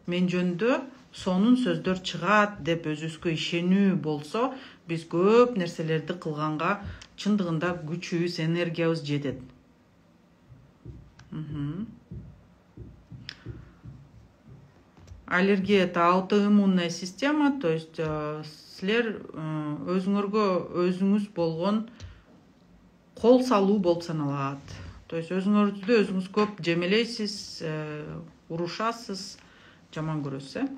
мен жөнүндө сонун сөздөр чыгат деп өзүбүзгө ишенүү болсо, биз көп нерселерди кылганга чындыгында күчүбүз, энергиябыз жетет. Аллергия — это аутоиммунная система, то есть силер өзүңөргө өзүңүз болгон кол салуу болуп саналат. То есть өзүңөрдү өзүңүз көп жемелейсиз, урушасыз, жаман көрөсүз, э?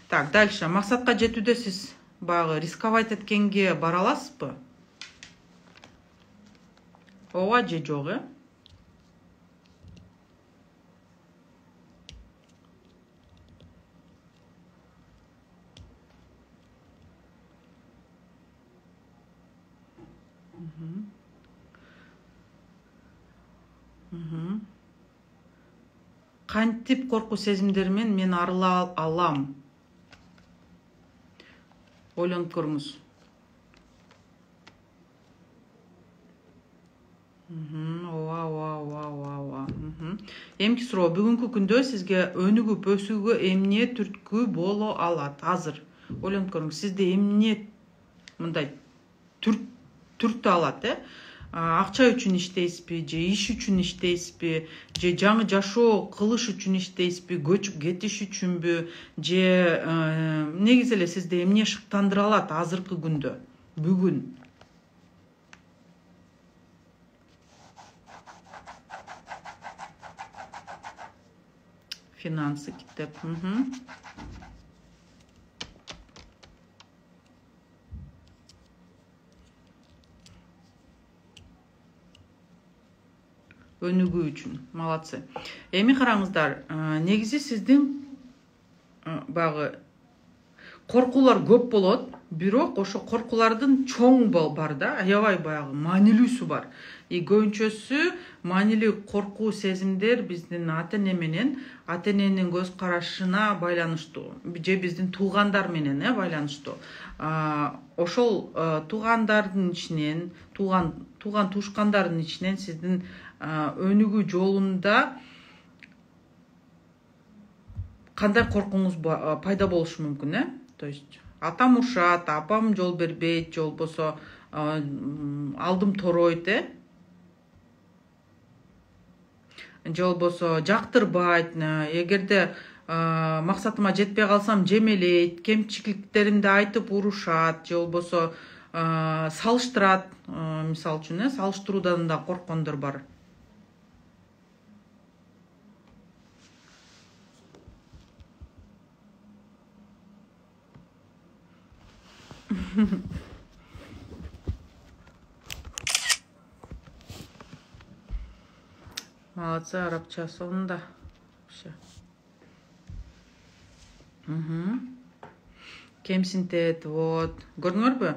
Так, дальше. Максатка жетүүдө сиз баягы рисковать эткенге бара аласызбы? Ооба же жок, э? кантип коркуу сезимдери менен мен арыла алам? Ойлонуп көрүңүз. Ооба, ооба, ооба, ооба. Эмки суроо, бүгүнкү күндө сизге өнүгүп өсүүгө эмне түрткү боло алат азыр? Ойлонуп көрүңүз, сизде эмне мындай түрттү алат, э? Акча үчүн иштейсизби, же иш үчүн иштейсизби, же жаңы жашоо кылыш үчүн иштейсизби, көчүп кетиш үчүнбү, же негизи эле сизди эмне шыктандыра алат азыркы күндө, бүгүн? Финансы китеп. Өнүгүү үчүн. Молодцы. Эми караңыздар, негизи сиздин багы коркуулар көп болот, бирок ошо коркуулардын чоң бар да, аябай баягы маанилүүсү бар. И көбүнчөсү маанилүү коркуу сезимдер биздин ата-эне менен, ата-эненин көз карашына байланыштуу, же биздин туугандар менен э байланыштуу. Ошол туугандардын ичинен, тууган тууган туушкандардын ичинен сиздин өнүгүү жолунда кандай коркууңуз пайда болушу мүмкүн, э? То есть атам урушат, апам жол бербейт, же болбосо алдым торойт, э? Же болбосо жактырбайт, эгерде максатыма жетпей калсам жемелейт, кемчиликтеримди айтып урушат, же болбосо салыштырат, мисалы үчүн, э, салыштыруудан да корккондор бар. Молодцы, арабча сонунда. Кемсинтет, вот. Көрдүңөрбү?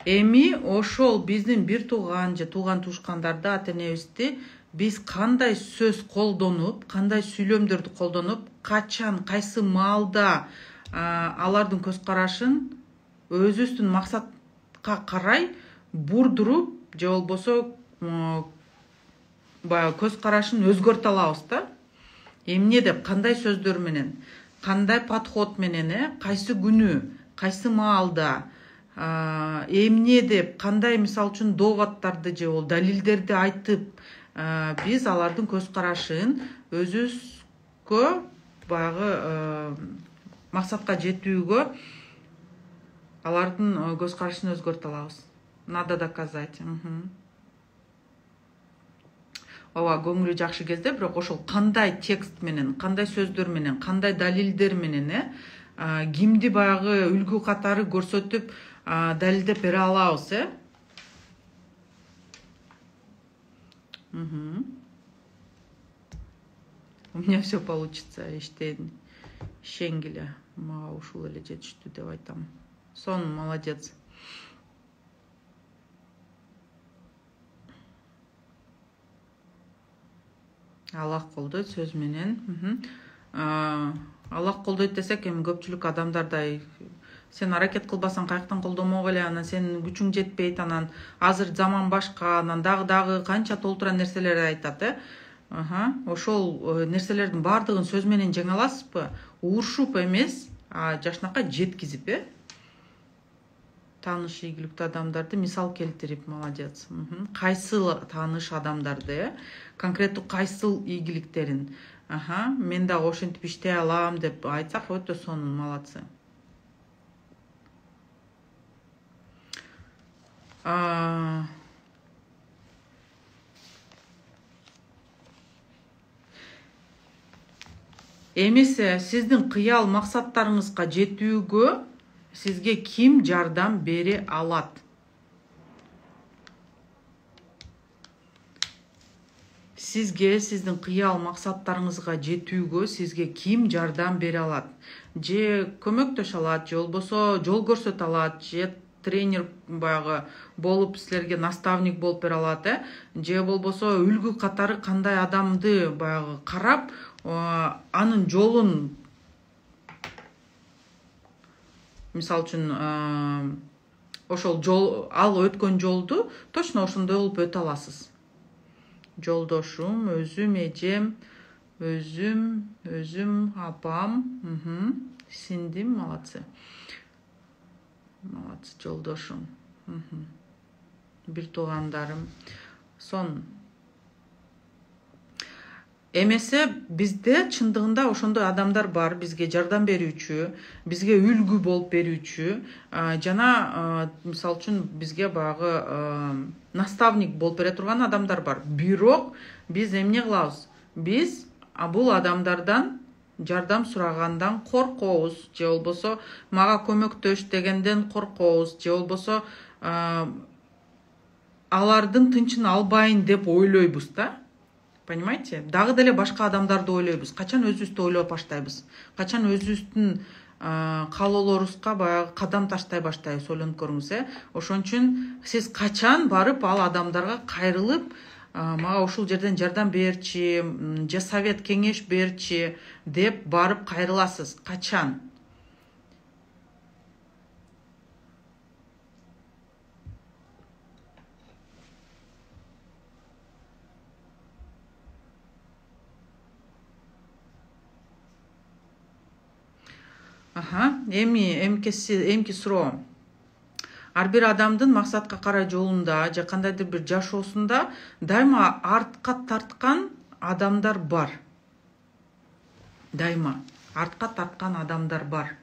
Эми ошол биздин бир тууган же тууган туушкандарды, ата-энебизди биз кандай сөз колдонуп, кандай сүйлөмдөрдү колдонуп, качан, кайсы маалда алардын көз карашын өзүбүздүн максатка карай бурдуруп, же болбосо баягы көз карашын өзгөртө алабыз да. Эмне деп, кандай сөздөр менен, кандай подход менен, э, кайсы күнү, кайсы маалда, эмне деп, кандай мисалы үчүн доводдорду же болбосо далилдерди айтып, биз алардын көз карашын өзүбүзгө баягы максатка жетүүгө алардын көз карашын өзгөртө алабыз. Надо доказать. Ооба, көңүлү жакшы кезде, бирок ошол кандай текст менен, кандай сөздөр менен, кандай далилдер менен, э, кимди баягы үлгү катары көрсөтүп далилдеп бере алабыз, э? У меня все получится, иштейин, ишенгиле, мага ушул эле жетиштүү деп айтам. Сон, молодец. Аллах колдойт сөз менен. Аллах колдойт десек, эми көпчүлүк адамдардай сен аракет кылбасаң каяктан колдомок эле, анан сенин күчүң жетпейт, анан азыр заман башка, анан дагы дагы канча толтура нерселерди айтат, э? Ошол нерселердин баардыгын сөз менен жеңе аласызбы? Урушуп эмес, а жашнакка жеткизип, э? Тааныш ийгиликтүү адамдарды мисал келтирип, молодец. Кайсы тааныш адамдарды, э? Конкреттүү кайсыл ийгиликтерин, мен дагы ошентип иштей алам деп айтсак, өтө сонун, молодцы. Эмесе сиздин кыял максаттарыңызга жетүүгө сизге ким жардам бере алат? Сизге сиздин кыял максаттарыңызга жетүүгө сизге ким жардам бере алат? Же көмөктөшө алат, же болбосо жол көрсөтө алат, же тренер баягы болуп силерге наставник болуп бере алат, э же болбосо үлгү катары кандай адамды баягы карап анын жолун, мисалы үчүн ошол жол, ал өткөн жолду точно ошондой болуп өтө аласыз. Жолдошум, өзүм, эжем, өзүм, өзүм, апам, сиңдим, молодцы. Молодцы, жолдошум. Бир туугандарым. Сон. Эмесе бизде чындыгында ошондой адамдар бар, бизге жардам берүүчү, бизге үлгү болуп берүүчү, жана мисалы үчүн бизге баягы наставник болуп бере турган адамдар бар. Бирок биз эмне кылабыз? Биз бул адамдардан жардам сурагандан коркобуз, же болбосо мага көмөктөш дегенден коркобуз, же болбосо алардын тынчын албайын деп ойлойбуз да. Понимаете? Дагы деле башка адамдарды ойлойбуз. Качан өзүбүздү ойлоп баштайбыз? Качан өзүбүздүн каалоолорубузга баягы кадам таштай баштайбыз, ойлонуп көрүңүз, э? Ошон үчүн сиз качан барып ал адамдарга кайрылып, мага ушул жерден жардам берчи, же совет кеңеш берчи деп барып кайрыласыз? Качан? Аха, эми эмкеси эмки суроо. Ар бир адамдын максатка карай жолунда же кандайдыр бир жашоосунда дайыма артка тарткан адамдар бар. Дайыма артка тарткан адамдар бар.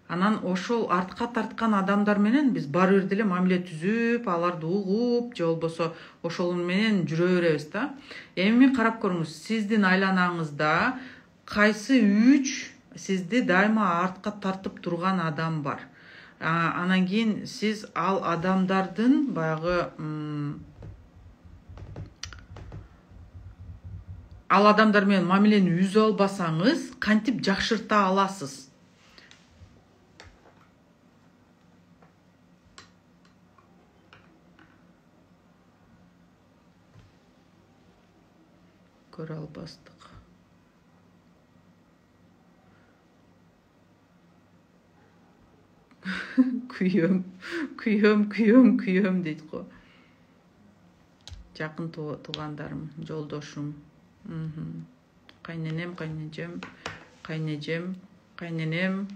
Анан ошол артка тарткан адамдар менен биз баары бир деле мамиле түзүп, аларды угуп, же болбосо ошол менен жүрө беребиз да. Эми карап көрүңүз, сиздин айланаңызда кайсы үч сизди дайыма артка тартып турган адам бар. Анан кийин сиз ал адамдардын баягы ал адамдар менен мамилени үзө албасаңыз, кантип жакшырта аласыз? Көрө албастык. Күйөм, күйөм, күйөм, күйөм дейт го. Жакын туугандарым, жолдошум, кайненем, кайнежем, кайнежем, кайненем.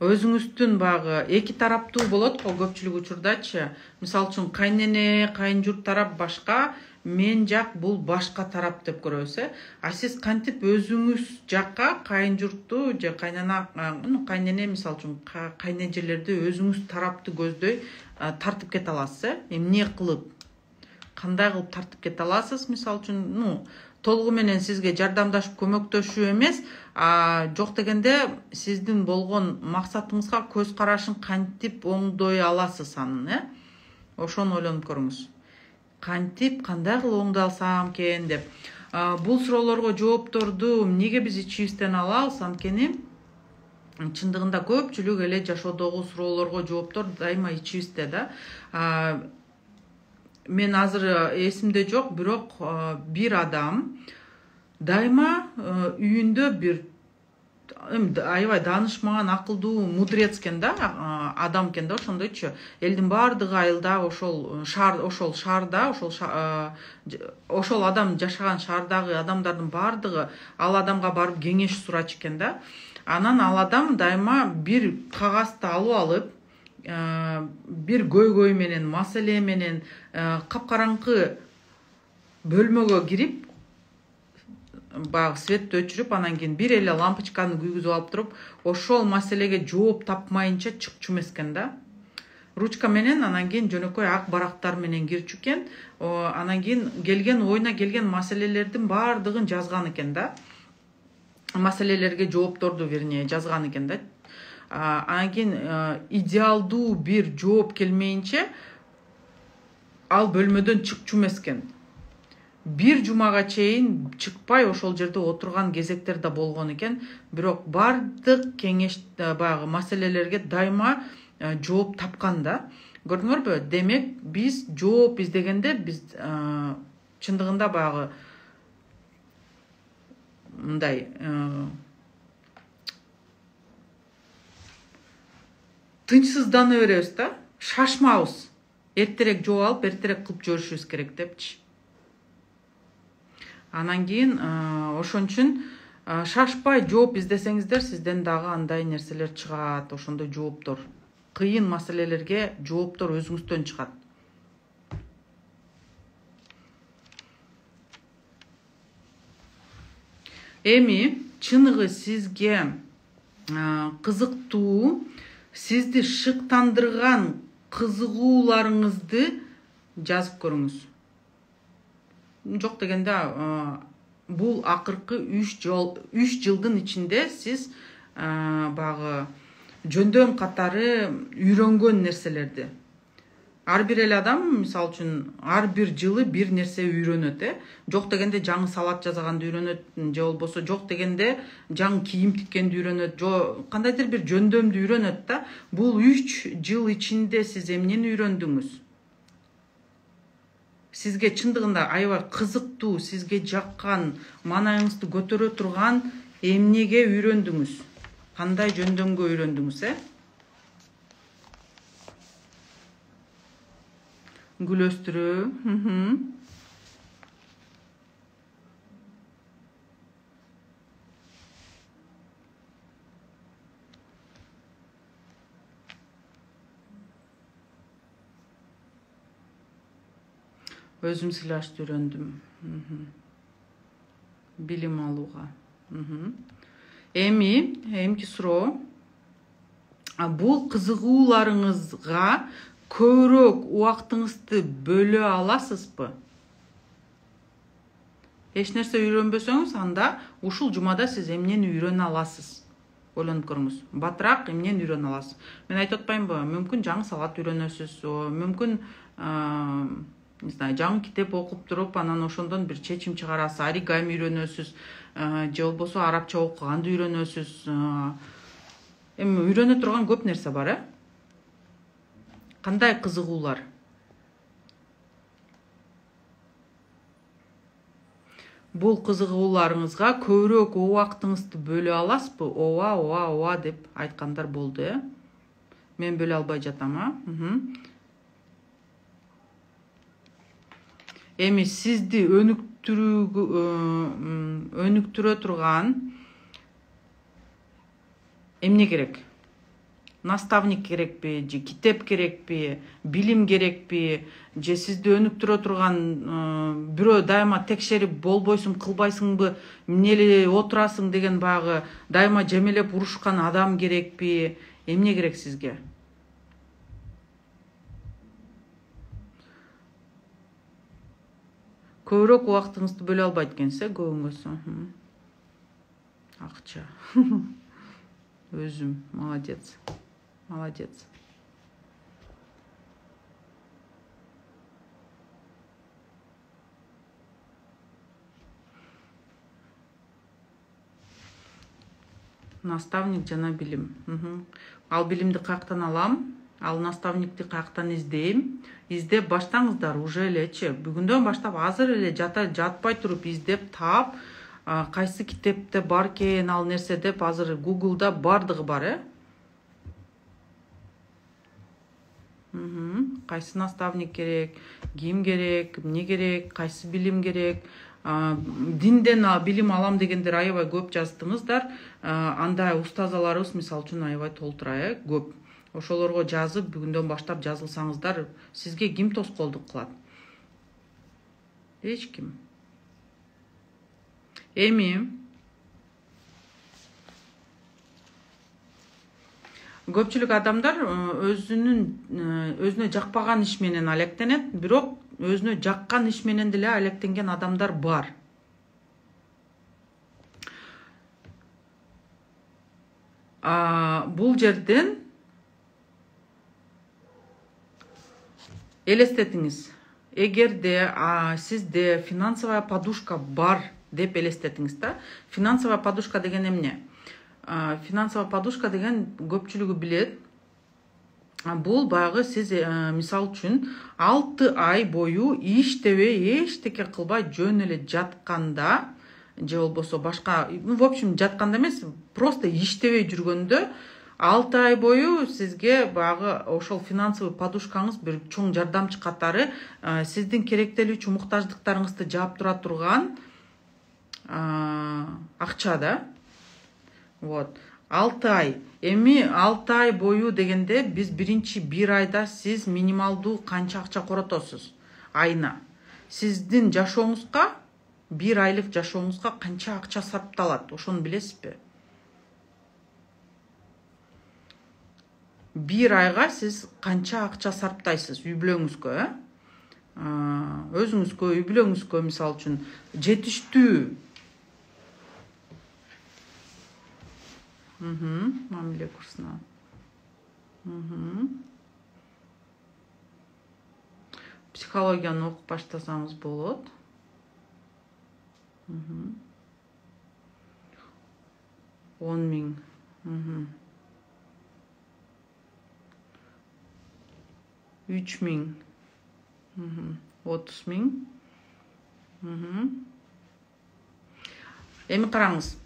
Өзүңүздүн багы эки тараптуу болот го көпчүлүк учурдачы. Мисалы үчүн кайнене, кайынжурт тарап башка, мен жак бул башка тарап деп көрөбүз, э? А сиз кантип өзүңүз жакка кайынжуртту же кайнана, кайнене мисалы үчүн кайнежелерди өзүңүз тарапты көздөй тартып кете аласыз, э? Эмне кылып? Кандай кылып тартып кете аласыз? Мисалы үчүн, ну, толугу менен сизге жардамдашып көмөктөшүү эмес, а жок дегенде сиздин болгон максатыңызга көз карашын кантип оңдой аласыз анын, э? Ошону ойлонуп көрүңүз. Кантип, кандай кылып оңдой алсам экен деп. Бул суроолорго жоопторду эмнеге биз ичибизден алабыз? Анткени чындыгында көпчүлүк эле жашоодогу суроолорго жооптор дайыма ичибизде да. Мен азыр эсимде жок, бирок бир адам дайыма үйүндө бир аябай таанышмаган акылдуу мудрец экен да, адам экен да, ошондойчу. Элдин баардыгы айылда ошол шаар, ошол шаарда, ошол ошол адам жашаган шаардагы адамдардын баардыгы ал адамга барып кеңеш сурачу экен да. Анан ал адам дайыма бир кагазды алып алып, бир көйгөй менен, маселе менен капкараңкы бөлмөгө кирип, баягы светти өчүрүп, анан кийин бир эле лампочканы күйгүзүп алып туруп, ошол маселеге жооп тапмайынча чыкчу эмес экен да. Ручка менен анан кийин жөнөкөй ак барактар менен кирчү экен. Анан кийин келген ойуна келген маселелердин баардыгын жазган экен да. Маселелерге жоопторду, вернее, жазган экен да. Анан кийин идеалдуу бир жооп келмейинче ал бөлмөдөн чыкчу эмес экен. бир жумага чейин чыкпай ошол жерде отурган кезектер да болгон экен. Бирок бардык кеңеш баягы маселелерге дайыма жооп тапкан да. Көрдүңөрбү? Демек биз жооп издегенде биз чындыгында баягы мындай тынчсыздана беребиз да, шашмабыз. Эртерээк жооп алып, эртерээк кылып жиберишибиз керек депчи. Анан кийин ошон үчүн шашпай жооп издесеңиздер, сизден дагы андай нерселер чыгат, ошондой жооптор. Кыйын маселелерге жооптор өзүңүздөн чыгат. Эми чыныгы сизге кызыктуу, сизди шыктандырган кызыгууларыңызды жазып көрүңүз. Жок дегенде бул акыркы үч жылдын ичинде сиз багы жөндөм катары үйрөнгөн нерселерди. Ар бир эле адам, мисалы үчүн, ар бир жылы бир нерсе үйрөнөт, э? Жок дегенде жаңы салат жасаганды үйрөнөт, же болбосо жок дегенде жаңы кийим тиккенди үйрөнөт, же кандайдыр бир жөндөмдү үйрөнөт да. Бул үч жыл ичинде сиз эмнени үйрөндүңүз? Сизге чындыгында аябай кызыктуу, сизге жаккан, маанайыңызды көтөрө турган эмнеге үйрөндүңүз? Кандай жөндөмгө үйрөндүңүз, э? Гүлөстүрүү. Өзүм сыйлашты үйрөндүм. Билим алууга. Эми, эмки суроо. Бул кызыгууларыңызга көбүрөөк убактыңызды бөлө аласызбы? Эч нерсе үйрөнбөсөңүз, анда ушул жумада сиз эмнени үйрөнө аласыз? Ойлонуп көрүңүз. Батыраак эмнени үйрөнө аласыз? Мен айтып атпаймынбы? Мүмкүн жаңы салат үйрөнөсүз, мүмкүн не знаю, жаңы китеп окуп туруп, анан ошондон бир чечим чыгарасыз, оригами үйрөнөсүз, же болбосо арабча окуганды үйрөнөсүз. Эми үйрөнө турган көп нерсе бар, э? Кандай кызыгуулар? Бул кызыгууларыңызга көбүрөөк убактыңызды бөлө аласызбы? Ооба, ооба, ооба деп айткандар болду, э? Мен бөлө албай жатам, а? Эми сизди өнүктүрө турган эмне керек? Наставник керекпи, же китеп керекпи, билим керекпи, же сизди өнүктүрө турган бирөө дайыма текшерип болбойсуң, кылбайсыңбы, эмне эле отурасың деген баягы дайыма жемелеп урушкан адам керекпи? Эмне керек сизге? Көбүрөөк убактыңызды бөлө албайт экенсиз, э, көбүңөз. Акча. Өзүм, молодец. Молодец. Наставник жана билим. Ал билимди каяктан алам? Ал наставникти каяктан издейм? Издеп баштаңыздар уже элечи. Бүгүндөн баштап азыр эле жатпай туруп издеп таап, кайсы китепте бар экен ал нерсе деп азыр Google'да бардыгы бар, э? Кайсы наставник керек, ким керек, эмне керек, кайсы билим керек? Динден билим алам дегендер аябай көп жаздыңыздар. Андай устазаларыбыз мисалы үчүн аябай толтура, э, көп. Ошолорго жазып, бүгүндөн баштап жазылсаңыздар, сизге ким тоскоолдук кылат? Эч ким. Эми көпчүлүк адамдар өзүнүн өзүнө жакпаган иш менен алектенет, бирок өзүнө жаккан иш менен деле алектенген адамдар бар. Бул жерден элестетиңиз. эгерде сизде финансовая подушка бар деп элестетиңиз да. Финансовая подушка деген эмне? Финансовая подушка деген көпчүлүгү билет. Бул баягы сиз мисал үчүн алты ай бою иштебей, эчтеке кылбай жөн эле жатканда, же болбосо башка, в общем, жатканда эмес, просто иштебей жүргөндө алты ай бою сизге баягы ошол финансовый подушкаңыз бир чоң жардамчы катары сиздин керектелүүчү муктаждыктарыңызды жаап тура турган акча да. Вот. алты ай. Эми алты ай бою дегенде биз биринчи бир айда сиз минималдуу канча акча коротосуз айына. Сиздин жашооңузга, бир айлык жашооңузга канча акча сарпталат, ошону билесизби? Бир айга сиз канча акча сарптайсыз үй бүлөңүзгө, э? Өзүңүзгө, үй бүлөңүзгө мисал үчүн жетиштүү мамиле курсуна. Психологияны окуп баштасаңыз болот. он миң. үч миң. отуз миң. Эми караңыз.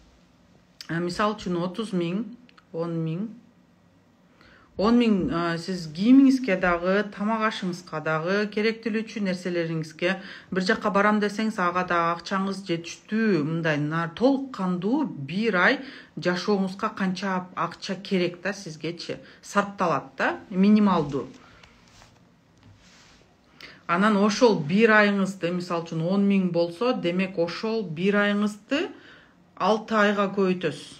Мисал үчүн отуз миң, он миң. он миң сиз кийимиңизге дагы, тамак ашыңызга дагы, керектелүүчү нерселериңизге бир жакка барам десеңиз, ага да акчаңыз жетиштүү, мындай толук кандуу бир ай жашооңузга канча акча керек да сизгечи сарпталат да, минималдуу. Анан ошол бир айыңызды, мисал үчүн он миң болсо, демек ошол бир айыңызды алты айга көбөйтөсүз.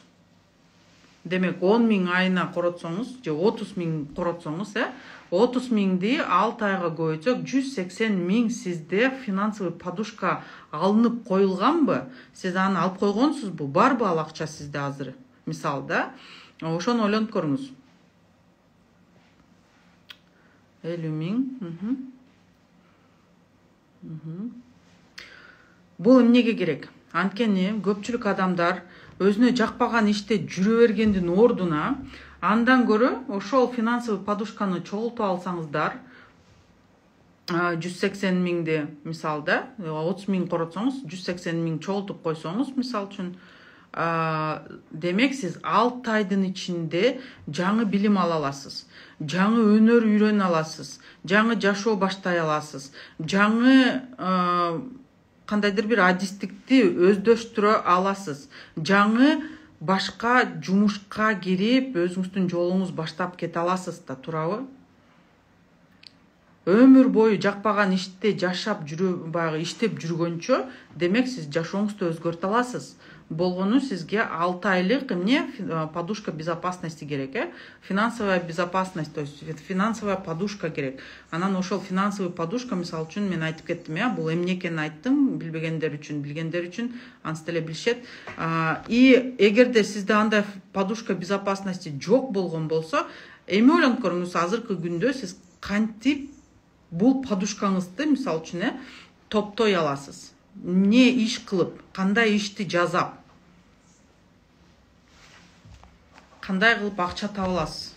Демек он миң айына коротсоңуз, же отуз миң коротсоңуз, э, отуз миңди алты айга көбөйтсөк, жүз сексен миң сизде финансовый подушка алынып коюлганбы? Сиз аны алып койгонсузбу? Барбы ал акча сизде азыр? Мисал да, ошону ойлонуп көрүңүз. элүү миң. Бул эмнеге керек? Анткени көпчүлүк адамдар өзүнө жакпаган иште жүрө бергендин ордуна андан көрө ошол финансовый подушканы чогултуп алсаңыздар, жүз сексен миңди мисалда, отуз миң коротсоңуз, жүз сексен миң чогултуп койсоңуз, мисал үчүн, демек сиз алты айдын ичинде жаңы билим ала аласыз, жаңы өнөр үйрөнө аласыз, жаңы жашоо баштай аласыз, жаңы кандайдыр бир адистикти өздөштүрө аласыз, жаңы башка жумушка кирип өзүңүздүн жолуңуз баштап кете аласыз да, туурабы? Өмүр бою жакпаган иште жашап жүрүп, баягы иштеп жүргөнчө, демек сиз жашооңузду өзгөртө аласыз. Болгону сизге алты айлык эмне подушка безопасности керек, э? Финансовая безопасность, то есть финансовая подушка керек. Анан ошол финансовый подушка, мисал үчүн мен айтып кеттим, э, бул эмне экенин айттым, билбегендер үчүн, билгендер үчүн ансы деле билишет. И эгерде сизде андай подушка безопасности жок болгон болсо, эми ойлонуп көрүңүз, азыркы күндө сиз кантип бул подушкаңызды, мисал үчүн, э, топтой аласыз. Не иш кылып, кандай ишти жазап, кандай кылып акча таба аласыз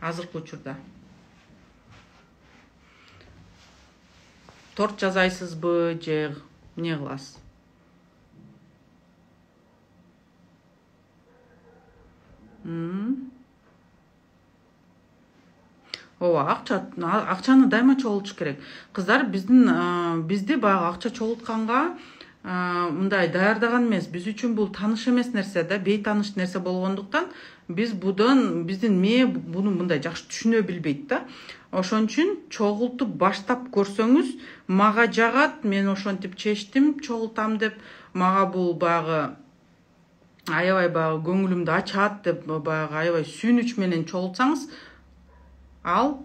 азыркы учурда? Торт жасайсызбы же эмне кыласыз? Ооба, акча, акчаны дайыма чогултуш керек. Кыздар, биздин бизди баягы акча чогултканга мындай даярдаган эмес. Биз үчүн бул тааныш эмес нерсе да, бейтааныш нерсе болгондуктан биз будан биздин мээ буну мындай жакшы түшүнө билбейт да. Ошон үчүн чогултуп баштап көрсөңүз, мага жагат, мен ошентип чечтим, чогултам деп, мага бул баягы аябай баягы көңүлүмдү ачат деп, баягы аябай сүйүнүч менен чогултсаңыз, ал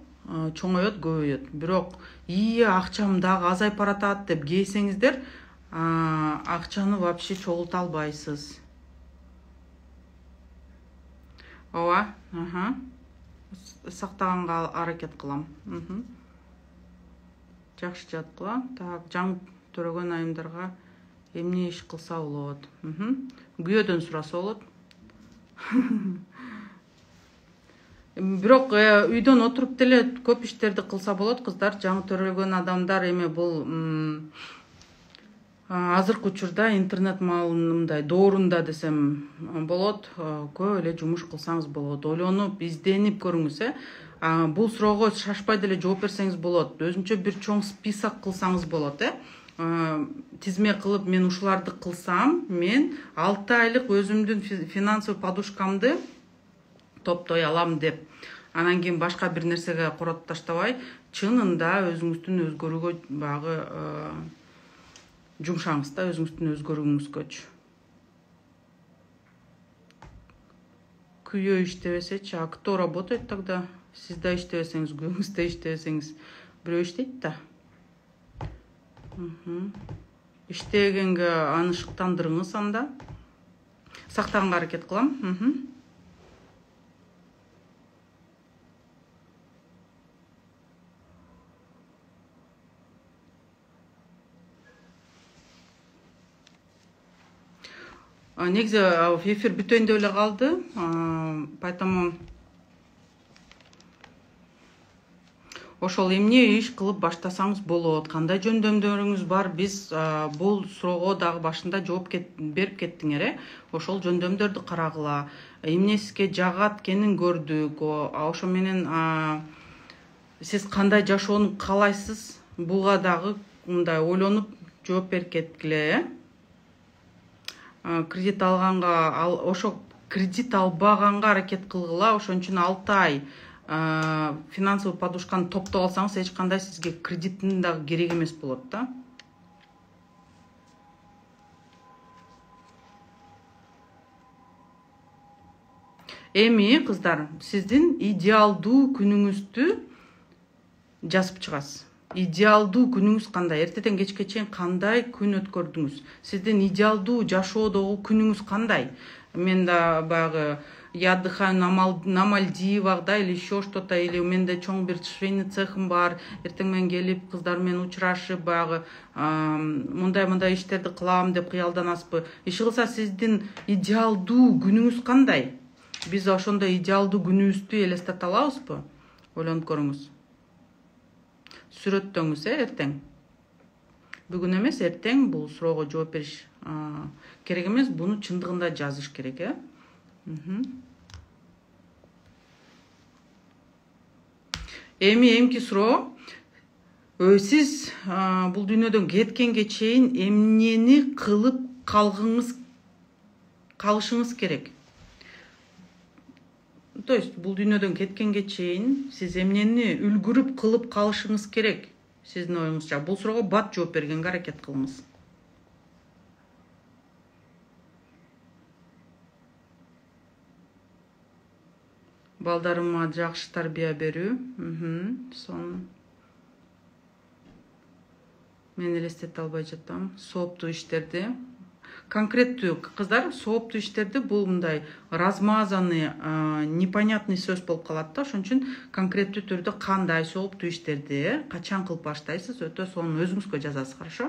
чоңойот, көбөйөт. Бирок ии акчам дагы азайып баратат деп кейсеңиздер, акчаны вообще чогулта албайсыз. Ооба, аха. Сактаганга аракет кылам. Жакшы жаткыла. Так, жаңы төрөгөн айымдарга эмне иш кылса болот? Күйөөдөн сураса болот. Бирок үйдөн отуруп деле көп иштерди кылса болот, кыздар. Жаңы төрөлгөн адамдар эми бул азыркы учурда интернет маалымдай доорунда десем болот, көп эле жумуш кылсаңыз болот. Ойлонуп, изденип көрүңүз, э. Бул суроого шашпай деле жооп берсеңиз болот. Өзүнчө бир чоң список кылсаңыз болот, э. Тизме кылып, мен ушуларды кылсам, мен алты айлык өзүмдүн финансовый подушкамды топтой алам деп. Анан кийин башка бир нерсеге коротуп таштабай, чынында өзүңүздүн өзгөрүүгө багы жумшаңыз да, өзүңүздүн өзгөрүүңүзгөчү. Күйөө иштебесечи, а кто работает тогда? Сиз да иштебесеңиз, күйөөңүз да иштебесеңиз, бирөө иштейт да. Иштегенге аны шыктандырыңыз анда. Сактаганга аракет кылам. Негизи эфир бүтөйүн деп эле калды. Поэтому ошол эмне иш кылып баштасаңыз болот, кандай жөндөмдөрүңүз бар, биз бул суроого дагы башында жооп берип кеттиңер, э. Ошол жөндөмдөрдү карагыла. Эмне сизге жагат экенин көрдүк. Ошо менен сиз кандай жашоону каалайсыз? Буга дагы мындай ойлонуп жооп берип кеткиле, э. Кредит алганга, ошо кредит албаганга аракет кылгыла. Ошон үчүн алты ай финансовый подушканы топтоп алсаңыз, эч кандай сизге кредиттин дагы керек эмес болот да. Эми кыздар, сиздин идеалдуу күнүңүздү жазып чыгасыз. Идеалдуу күнүңүз кандай? Эртеден кечке чейин кандай күн өткөрдүңүз? Сиздин идеалдуу жашоодогу күнүңүз кандай? Мен да багы я отдыхаю на Мальдивах, да, или еще что-то, или у менде чоң бир швейный цехым бар, эртең менен келип кыздар менен учурашып, багы мындай-мындай иштерди кылам деп кыялданасызбы? Иш кылса сиздин идеалдуу күнүңүз кандай? Биз ошондой идеалдуу күнүбүздү элестете алабызбы? Ойлонуп көрүңүз. Сүрөттөңүз, э, эртең. Бүгүн эмес, эртең бул суроого жооп бериш керек эмес, буну чындыгында жазыш керек, э. Эми эмки суроо, сиз бул дүйнөдөн кеткенге чейин эмнени кылып калгыңыз калышыңыз керек? То есть бул дүйнөдөн кеткенге чейин сиз эмнени үлгүрүп кылып калышыңыз керек? Сиздин оюңузча бул суроого бат жооп бергенге аракет кылыңыз. Балдарыма жакшы тарбия берүү. Сон мен элестете албай жатам. Сооптуу иштерди. Конкреттүү кыздар, сооптуу иштерди бул мындай размазанный, непонятный сөз болуп калат да. Ошон үчүн конкреттүү түрдө кандай сооптуу иштерди, качан кылып баштайсыз, өтө сонун өзүңүзгө жазасыз, хорошо?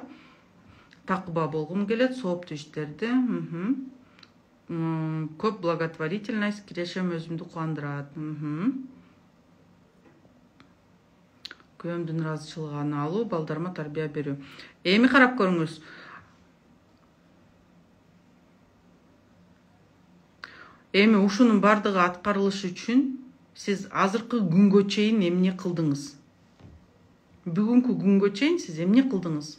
Такыба болгум келет, сооптуу иштерди. Көп благотворительность, кирешем өзүмдү кубандырат. Күйөөмдүн ыраазычылыгын алуу, балдарыма тарбия берүү. Эми карап көрүңүз. Эми ушунун бардыгы аткарылышы үчүн сиз азыркы күнгө чейин эмне кылдыңыз? Бүгүнкү күнгө чейин сиз эмне кылдыңыз?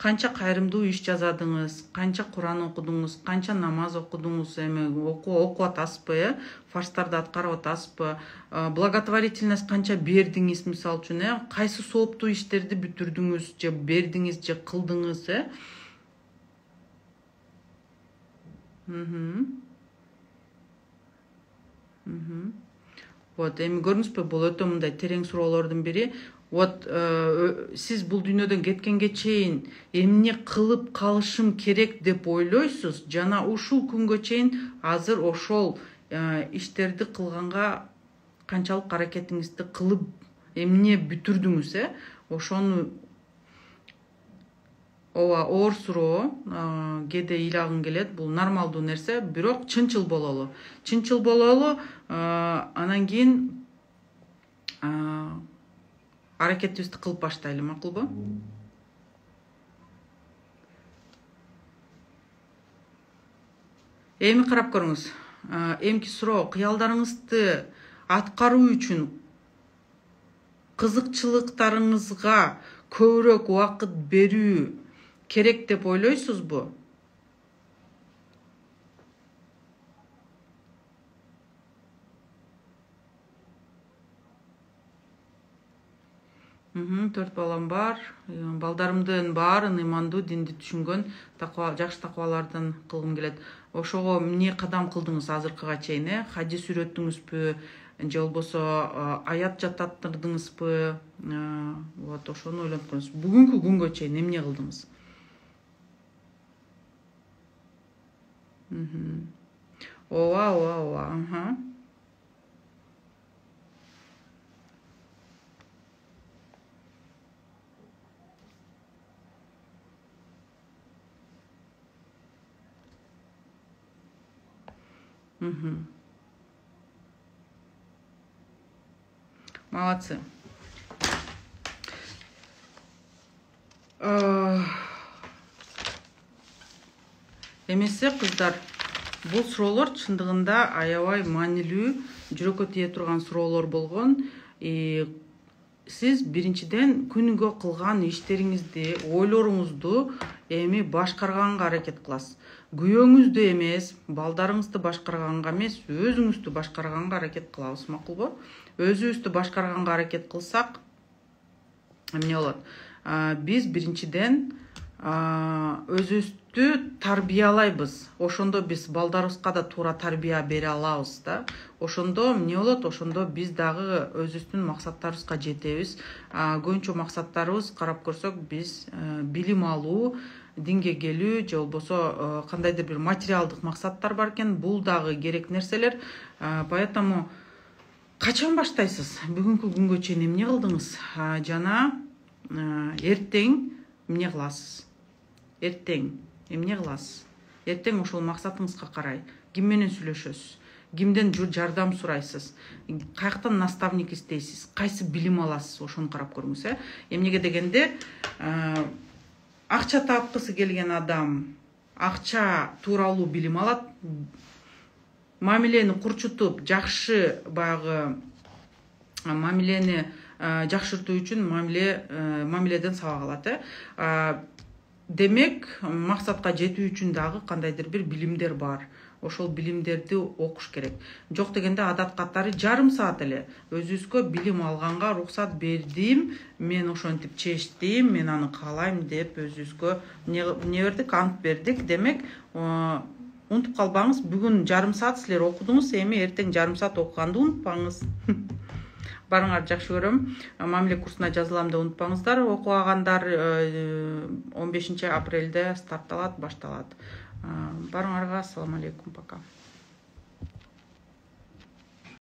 Канча кайрымдуу иш жазадыңыз, канча Куран окудуңуз, канча намаз окудуңуз, эми окуп атасызбы, э? Фарштарды аткарып атасызбы? Благотворительность канча бердиңиз, мисалы үчүн, э? Кайсы сооптуу иштерди бүтүрдүңүз, же бердиңиз, же кылдыңыз, э? Вот, эми көрдүңүзбү, бул өтө мындай терең суроолордун бири. Вот, сиз бул дүйнөдөн кеткенге чейин эмне кылып калышым керек деп ойлойсуз, жана ушул күнгө чейин азыр ошол иштерди кылганга канчалык аракетиңизди кылып эмне бүтүрдүңүз, э ошону ооба оор суроо, кээде ыйлагың келет, бул нормалдуу нерсе, бирок чынчыл бололу. Чынчыл бололу, анан кийин аракетибизди кылып баштайлы, макулбу? Эми карап көрүңүз. Эмки суроо, кыялдарыңызды аткаруу үчүн кызыкчылыктарыңызга көбүрөөк убакыт берүү керек деп ойлойсузбу? Төрт балам бар. Балдарымдын баарын ыймандуу, динди түшүнгөн, жакшы такыбалардан кылгым келет. Ошого эмне кадам кылдыңыз азыркыга чейин, э? Хадис үйрөттүңүзбү, же болбосо аят жаттаттырдыңызбы? Вот ошону ойлонуп көрүңүз. Бүгүнкү күнгө чейин эмне кылдыңыз? Ооба, ооба, ооба. Молодцы. Эмесе кыздар, бул суроолор чындыгында аябай маанилүү, жүрөккө тие турган суроолор болгон. Сиз биринчиден күнүгө кылган иштериңизди, ойлоруңузду эми башкарганга аракет кыласыз. Күйөөңүздү эмес, балдарыңызды башкарганга эмес, өзүңүздү башкарганга аракет кылабыз, макулбу? Өзүбүздү башкарганга аракет кылсак, эмне болот? Биз биринчиден өзүбүздү тарбиялайбыз. Ошондо биз балдарыбызга да туура тарбия бере алабыз да. Ошондо эмне болот? Ошондо биз дагы өзүбүздүн максаттарыбызга жетебиз. Көбүнчө максаттарыбыз карап көрсөк, биз билим алуу, динге келүү, же болбосо кандайдыр бир материалдык максаттар бар экен. Бул дагы керек нерселер. Поэтому качан баштайсыз? Бүгүнкү күнгө чейин эмне кылдыңыз? Жана эртең эмне кыласыз? Эртең эмне кыласыз? Эртең ошол максатыңызга карай ким менен сүйлөшөсүз? Кимден жардам сурайсыз? Каяктан наставник издейсиз? Кайсы билим аласыз? Ошону карап көрүңүз, э? Эмнеге дегенде, акча тапкысы келген адам акча тууралуу билим алат. Мамилени курчутуп, жакшы баягы мамилени жакшыртуу үчүн мамиледен сабак алат, э? Демек, максатка жетүү үчүн дагы кандайдыр бир билимдер бар. Ошол билимдерди окуш керек. Жок дегенде адат катары жарым саат эле өзүбүзгө билим алганга уруксат бердим, мен ошентип чечтим, мен аны каалайм деп өзүбүзгө эмне бердик, ант бердик. Демек, унутуп калбаңыз, бүгүн жарым саат силер окудуңуз, эми эртең жарым саат окуганды унутпаңыз. Барыңар, жакшы көрөм. Мамиле курсуна жазылам деп унутпаңыздар. Окугандар он бешинчи апрелде стартталат, башталат. Барыңарга, ассаламу алейкум, пока.